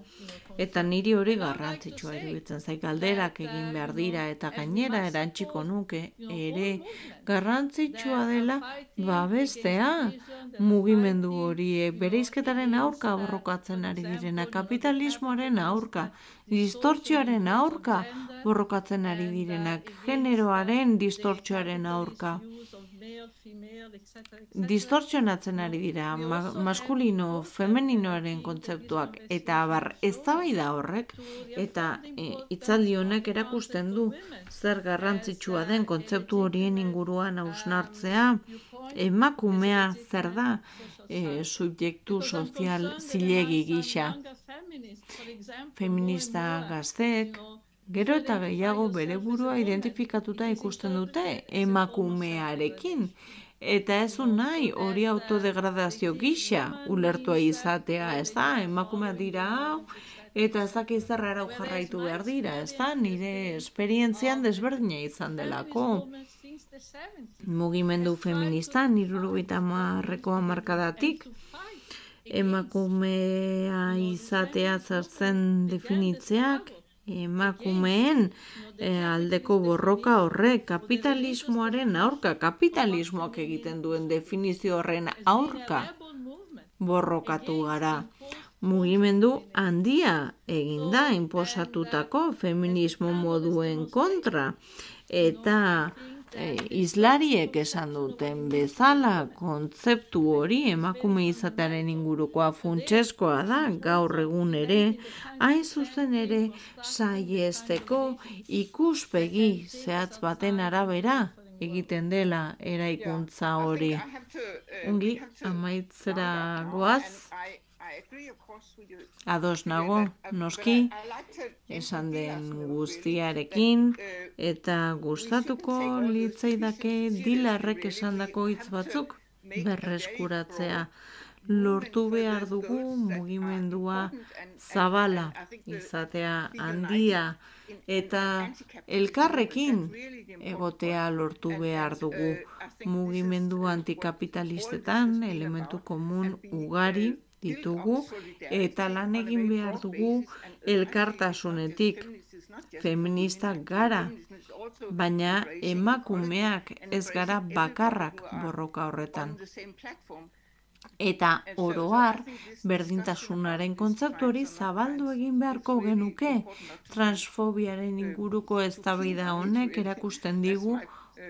Eta niri hori garrantzitsua iruditzen zait, galderak egin behar dira eta gainera erantziko nuke ere garrantzitsua dela babestea mugimendu horiek bereizketaren aurka borrokatzen ari direna, kapitalismoaren aurka, distortzioaren aurka borrokatzen ari direnak, generoaren distortzioaren aurka. Distortzionatzen ari dira maskulino, femeninoaren kontzeptuak eta eztabaida horrek eta hitzaldi honek erakusten du zer garrantzitsua den kontzeptu horien inguruan hausnartzea, emakumea zer da subjektu sozial zilegi gisa. Feminista gazteek gero eta gehiago bere burua identifikatuta ikusten dute emakumearekin. Eta ez du nahi hori autodegradazio gisa ulertua izatea, ez da, emakumea dira hau, eta ez dakiz zer arau jarraitu behar dira, ez da, nire esperientzian desberdina izan delako. Mugimendu feministan, 70ko hamarkadatik, emakumea izatea zertzen definitzeak, emakumeen aldeko borroka horrek kapitalismoaren aurka, kapitalismoak egiten duen definizio horren aurka borrokatu gara. Mugimendu handia eginda inposatutako feminismo moduen kontra eta islariek esan duten bezala kontzeptu hori emakume izatearen ingurukoa funtsezkoa da gaur egun ere, hain zuzen ere saiesteko ikuspegi zehatz baten arabera egiten dela eraikuntza hori. Ongi, amaitzera goaz. Ados nago, noski, esan den guztiarekin, eta gustatuko litzaidake Dilarrek esandako hitz batzuk berreskuratzea. Lortu behar dugu mugimendua zabala izatea handia, eta elkarrekin egotea lortu behar dugu. Mugimendu antikapitalistetan elementu komun ugari ditugu eta lan egin behar dugu elkartasunetik. Feministak gara, baina emakumeak ez gara bakarrak borroka horretan. Eta oroar, berdintasunaren kontzeptu hori zabaldu egin beharko genuke. Transfobiaren inguruko eztabaida honek erakusten digu,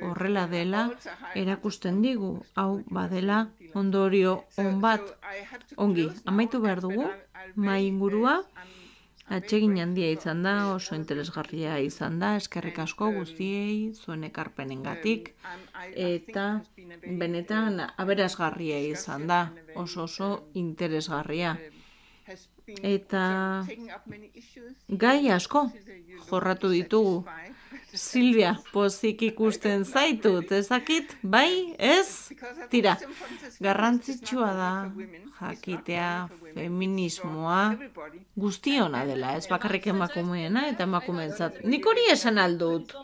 horrela dela, erakusten digu, hau badela ondorio on bat. Ongi, amaitu behar dugu, mahai ingurua, atsegin handia izan da, oso interesgarria izan da, eskerrik asko guztiei, zuen ekarpenengatik, eta benetan aberasgarria izan da, oso interesgarria. Eta gai asko jorratu ditugu. Silvia, pozik ikusten zaitut, ezakit, bai, ez? Tira, garrantzitsua da jakitea feminismoa guztiona dela, ez bakarrik emakumeena eta emakumeentzat. Nik hori esan aldut.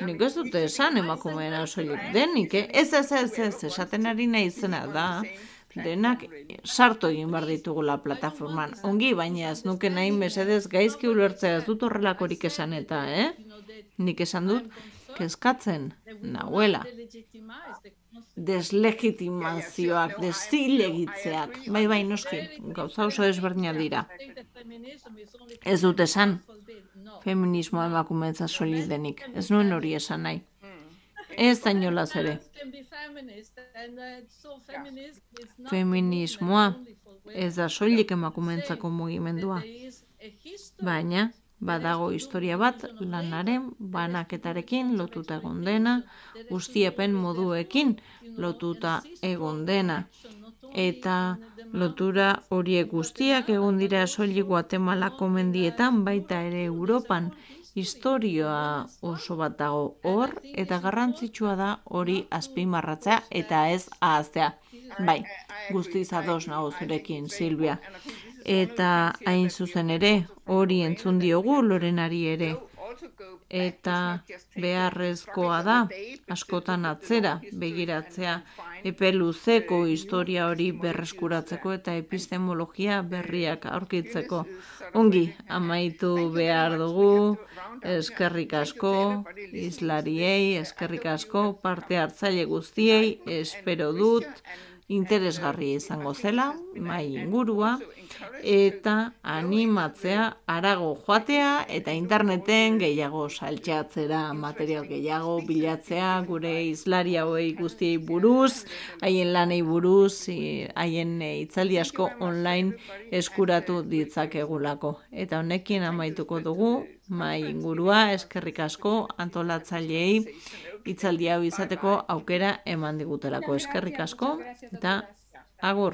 Nik ez dute esan emakumeena soilik denik, ez, esaten ari nahi izena da. Denak sartu egin behar ditugula plataforman. Ongi, baina ez nuke nahi mesedez gaizki ulertzea, ez dut horrelakorik esan eta, Nik esan dut, kezkatzen nahuela. Deslegitimazioak, desilegitzeak. Bai, noski, gauza oso ezberdina dira. Ez dut esan, feminismoa emakumeentza soilik denik. Ez nuen hori esan nahi. Ez da inolaz ere. Feminismoa ez da soilik emakumeentzako mugimendua. Baina, badago historia bat lanaren banaketarekin lotuta egon dena, guztiepen moduekin lotuta egon dena. Eta lotura horiek guztiak egon dira soilik Guatemalako mendietan, baita ere Europan. Historia oso bat dago hor, eta garrantzitsua da hori azpimarratzea eta ez ahaztea. Bai, guztiz ados nago zurekin, Silvia. Eta hain zuzen ere, hori entzun diogu Lorenari ere. eta beharrezkoa da askotan atzera begiratzea epe luzeko historia hori berreskuratzeko eta epistemologia berriak aurkitzeko. Ongi, amaitu behar dugu, eskerrik asko, hizlariei, eskerrik asko, parte hartzaile guztiei, espero dut, interesgarria izango zela, mai ingurua, eta animatzea harago joatea eta interneten gehiago saltxatzera, material gehiago bilatzea, gure hizlari hauei guztiei buruz, haien lanei buruz, haien hitzaldi asko online eskuratu ditzakegulako. Eta honekin amaituko dugu, mai ingurua, eskerrik asko, antolatzaileei, hitzaldi hau izateko aukera eman digutelako. Eskerrik asko, eta agur.